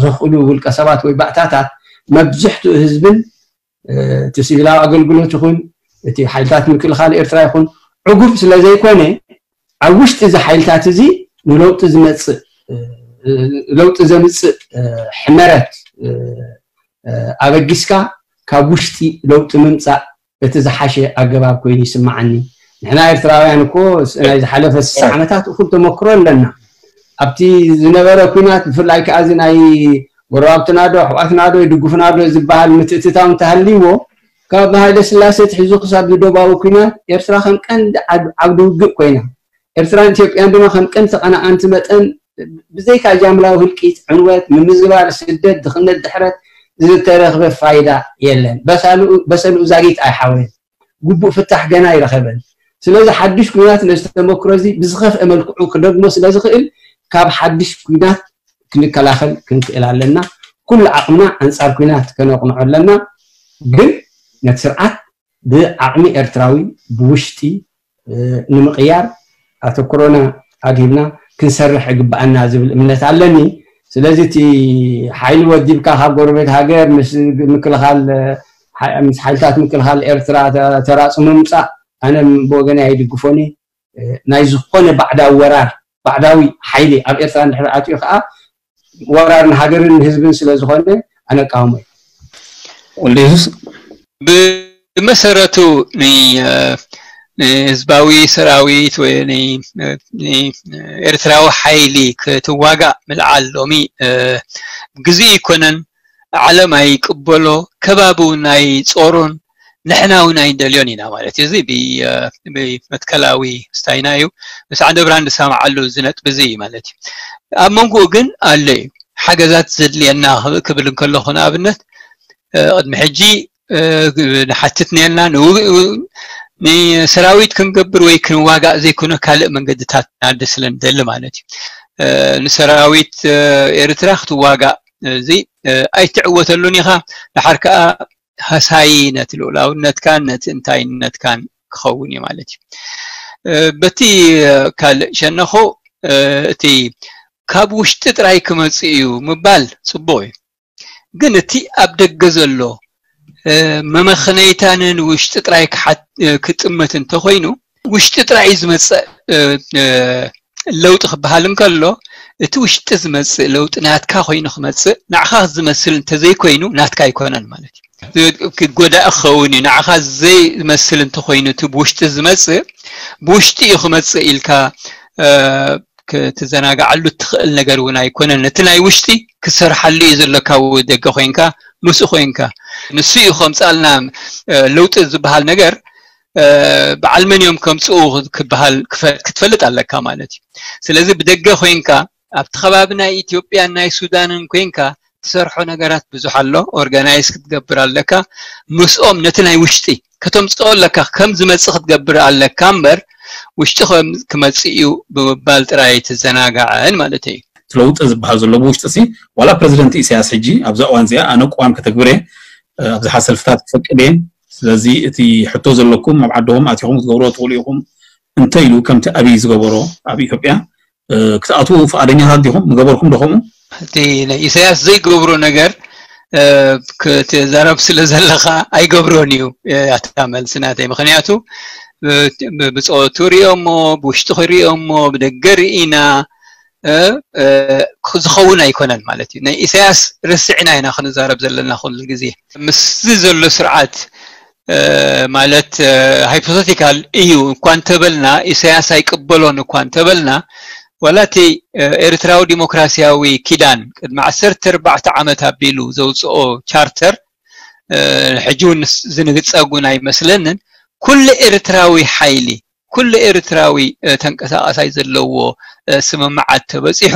ዘኽእሉ ውልቀ ሰባት ወይ ባእታታት መብዝሕትኡ ህዝብን እቲ ሲቪላዊ ኣገልግሎት ይኹን እቲ ሓይልታት ምክልኻል ኤርትራ ይኹን ዕጉብ ስለ ዘይኮነ ኣብ ውሽጢ እዚ ሓይልታት እዚ ንለውጢ ዝመጽእ ለውጢ ዘምጽእ ሕመረት ኣበጊስካ ካብ ውሽጢ ለውጢ ምምጻእ እቲ ዝሓሸ ኣገባብ ኮይኑ ይስምዓኒ። ንሕና ኤርትራውያን እኮ ናይ ዝሓለፈ ስሳ ዓመታት እኹል ተመክሮ ኣለና። ኣብቲ ዝነበረ ኩናት ብፍላይ ከዓ እዚ ናይ ጎረባብትና ዶ ኣሕዋትና ዶ ይድግፉና ዶ ዝበሃል ምትእትታው እንተሃልይዎ ካብ ሃይለ ስላሴ ትሒዙ ክሳብ ዝደባዊ ኩናት ኤርትራ ከም ቀንዲ ዓብዲ ውግእ ኮይና ኤርትራን ኢትዮጵያን ድማ ከም ቀንዲ ተቐናቐንቲ መጠን ብዘይካ ጃምላዊ ህልቂት፣ ዕንወት፣ ምምዝባል፣ ስደት፣ ድኽነት፣ ድሕረት ዝተረኽበ ፋይዳ የለን። በሰልኡ ዛጊት ኣይሓወየን። ግቡእ ፍታሕ ገና ኣይረኸበን። ስለዚ ሓድሽ ኩናት ነዚ ተመክሮ እዚ ብዝኸፍአ መልክዑ ክደግሞ ስለ ዝኽእል ካብ ሓድሽ ኩናት ክንከላኸል ክንክእል ኣለና። ኩሉ ዓቕምና ኣንጻር ኩናት ከነቕንዖ ኣለና። ግን ነቲ ስርዓት ብዓቕሚ ኤርትራዊ ብውሽጢ ንምቕያር ኣተኩሮና ኣድሂብና ክንሰርሕ ይግብኣና ዝብል እምነት ኣለኒ። ስለዚ እቲ ሓይሊ ወዲብካ ካብ ጎረቤት ሃገር ምስ ምክልኻል ምስ ሓይልታት ምክልኻል ኤርትራ ተራፁ ምምፃእ ኣነ ብወገነይ ኣይድግፎን። ናይ ዝኾነ ባዕዳዊ ወራር ባዕዳዊ ሓይሊ ኣብ ኤርትራ እንድሕር ኣትዩ ከዓ ወራር ንሃገርን ንህዝብን ስለ ዝኾነ ኣነ እቃወሞ እየ። ወልደ የሱስ ብመሰረቱ ንህዝባዊ ሰራዊት ወይ ኤርትራዊ ሓይሊ ክትዋጋእ ምልዓል ሎሚ ግዜ ይኮነን። ዓለም ኣይቅበሎ፣ ከባቢ እውን ኣይጾሮን፣ ንሕና እውን ኣይንደልዮን ኢና ማለት እዩ። እዚ ብመትከላዊ ስታይና እዩ። ምስ ዓንደ ብርሃን ዝሰማዓሉ እዚ ነጥቢ እዚ እዩ ማለት እዩ። ኣብ መንጎኡ ግን ኣሎ እዩ ሓገዛት ዘድልየና ክብል እንከለኹ ንኣብነት ቅድሚ ሕጂ ንሓትት ነርና ንሰራዊት ክንገብር ወይ ክንዋጋእ ዘይኮነ ካልእ መንገድታት ናደ ስለ ንደሊ ማለት እዩ። ንሰራዊት ኤርትራ ክትዋጋእ እዚ ኣይትዕወተሉን ኢኻ። ድሓር ከኣ ሃሳዪ ነቲ ልኡላውነትካን ነቲ እንታይነትካን ክኸውን እዩ ማለት እዩ። በቲ ካልእ ሸነኹ እቲ ካብ ውሽጢ ጥራይ ክመጽእ እዩ ምባል ጽቡቕ እዩ። ግን እቲ ኣብ ደገ ዘሎ መመኽነይታ ንውሽጢ ጥራይ ክጥምት እንተኾይኑ ውሽጢ ጥራይ ዝመፅእ ለውጢ ክበሃል እንከሎ እቲ ውሽጢ ዝመፅእ ለውጢ ናትካ ኮይኑ ክመፅእ ንዕኻ ዝመስል እንተዘይኮይኑ ናትካ ኣይኮነን ማለት እዩ። ክጎዳእ ክኸውን እዩ። ንዕኻ ዘይመስል እንተኾይኑ እቲ ብውሽጢ ዝመፅእ ብውሽጢ እዩ ክመፅእ ኢልካ ክትዘናግዓሉ እትኽእል ነገር እውን ኣይኮነን። እቲ ናይ ውሽጢ ክሰርሓሉ እዩ ዘለካ ደገ ኮይንካ ምስኡ ኮይንካ ንሱ እዩ ከምፃልና ለውጢ ዝበሃል ነገር በዓል መን እዮም ከምፅኡ ክበሃል ክትፈልጥ ኣለካ ማለት እዩ። ስለዚ ብደገ ኮይንካ ኣብቲ ከባቢ ናይ ኢትዮጵያን ናይ ሱዳንን ኮይንካ ትሰርሖ ነገራት ብዙሕ ኣሎ። ኦርጋናይዝ ክትገብር ኣለካ። ምስኦም ነቲ ናይ ውሽጢ ከተምፅኦ ኣለካ። ከም ዝመፅእ ክትገብር ኣለካ እምበር ውሽጢ ክመፅእ እዩ ብምባል ጥራይ ኣይትዘናጋዕን ማለት እዩ። ለውጢ ዝበሃል ዘሎ ብውሽጢ ሲ ዋላ ፕረዚደንት ኢሳያስ ሕጂ ኣብዛ እዋን እዚኣ ኣነ ቅዋም ከተግብር እየ ኣብዝሓ ሰልፍታት ክፈቅድ እየ። ስለዚ እቲ ሕቶ ዘለኩም ኣብ ዓድኹም ኣቲኹም ክትገብርዎ ትኽእሉ ኢኹም እንተ ኢሉ ከምቲ ኣብይ ዝገበሮ ኣብ ኢትዮጵያ ክትኣትዉ ፍቓደኛታት ዲኹም? ምገበርኩም ዶ ከምኡ? እቲ ናይ ኢሳያስ ዘይገብሮ ነገር ክትዛረብ ስለ ዘለኻ ኣይገብሮን እዩ። ኣታ መልሲ ናተይ ምክንያቱ ብፆቱ ሪኦሞ፣ ብውሽጢ ክሪኦሞ፣ ብደገ ርኢና ዝኸውን ኣይኮነን ማለት እዩ። ናይ ኢሳያስ ርስዕና ኢና ክንዛረብ ዘለና ኩሉ ግዜ። ምስዚ ዘሎ ስርዓት ማለት ሃይፖቴቲካል እዩ እኳ እንተበልና፣ ኢሳያስ ኣይቅበሎን እኳ እንተበልና፣ ዋላ እቲ ኤርትራዊ ዲሞክራሲያዊ ኪዳን ቅድሚ ዓሰርተ ኣርባዕተ ዓመት ኣቢሉ ዘውፅኦ ቻርተር ሕጂ እውን ዝንግፀ እውን ኣይመስለንን። ኩሉ ኤርትራዊ ሓይሊ፣ ኩሉ ኤርትራዊ ተንቀሳቃሳይ ዘለዎ ስምምዓት ተበፂሑ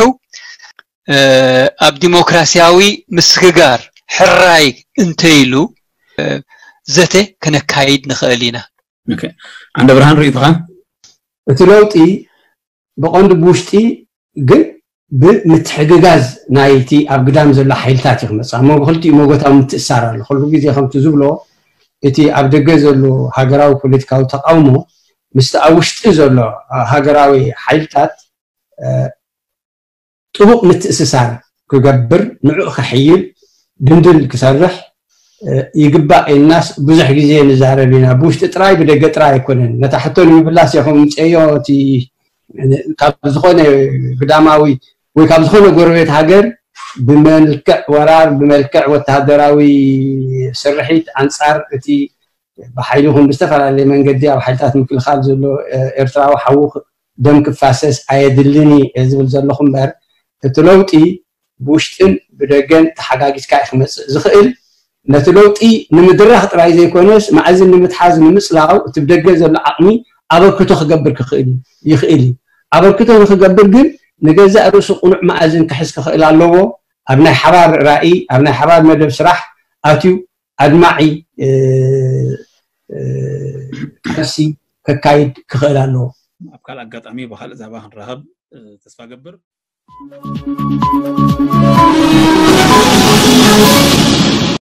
ኣብ ዲሞክራሲያዊ ምስግጋር ሕራይ እንተይሉ ዘተ ክነካይድ ንኽእል ኢና። ዓንደ ብርሃን ርእይቶኻ? እቲ ለውጢ ብቐንዱ ብውሽጢ ግን ብምትሕግጋዝ ናይቲ ኣብ ግዳም ዘሎ ሓይልታት እዩ ክመፅእ። ኣብ መንጎ ክልቲኡ መጎታዊ ምትእሳር ኣሎ። ኩሉ ግዜ ከምቲ ዝብሎ እቲ ኣብ ደገ ዘሎ ሃገራዊ ፖለቲካዊ ተቃውሞ ምስቲ ኣብ ውሽጢ ዘሎ ሃገራዊ ሓይልታት ጥቡቕ ምትእስሳር ክገብር፣ ንዕኡ ከሕይል፣ ድንድል ክሰርሕ ይግባእ ኢልናስ ብዙሕ ግዜ ንዛረብ ኢና። ብውሽጢ ጥራይ ብደገ ጥራይ ኣይኮነን። ነታ ሕቶ ንምምላስ ኢኹም ምፅእዮ እቲ ካብ ዝኾነ ግዳማዊ ወይ ካብ ዝኾነ ጎረቤት ሃገር ብመልክዕ ወራር ብመልክዕ ወታደራዊ ስርሒት ኣንፃር እቲ ብሓይሊ ይኹን ብዝተፈላለየ መንገዲ ኣብ ሓይልታት ምክልኻል ዘሎ ኤርትራዊ ሓዉ ደም ክፋሰስ ኣየድልን እዩ ዝብል ዘለኹ እምበር እቲ ለውጢ ብውሽጥን ብደገን ተሓጋጊዝካ እዩ ክመፅእ ዝኽእል። ነቲ ለውጢ ንምድራኽ ጥራይ ዘይኮነስ ማእዝን ንምትሓዝ ንምፅላው እቲ ብደገ ዘሎ ዓቕሚ ኣበርክቶ ክገብር ክኽእል ይኽእል እዩ። ኣበርክቶ ንክገብር ግን ንገዛእ ርእሱ ቅኑዕ ማእዝን ክሕዝ ክኽእል ኣለዎ። ኣብ ናይ ሓባር ራእይ፣ ኣብ ናይ ሓባር መደብ ስራሕ ኣትዩ ኣድማዒ ቃልሲ ከካይድ ክኽእል ኣለዎ። ኣብ ካልእ ኣጋጣሚ ብካልእ ዛባ ክንራኸብ ተስፋ ገብር።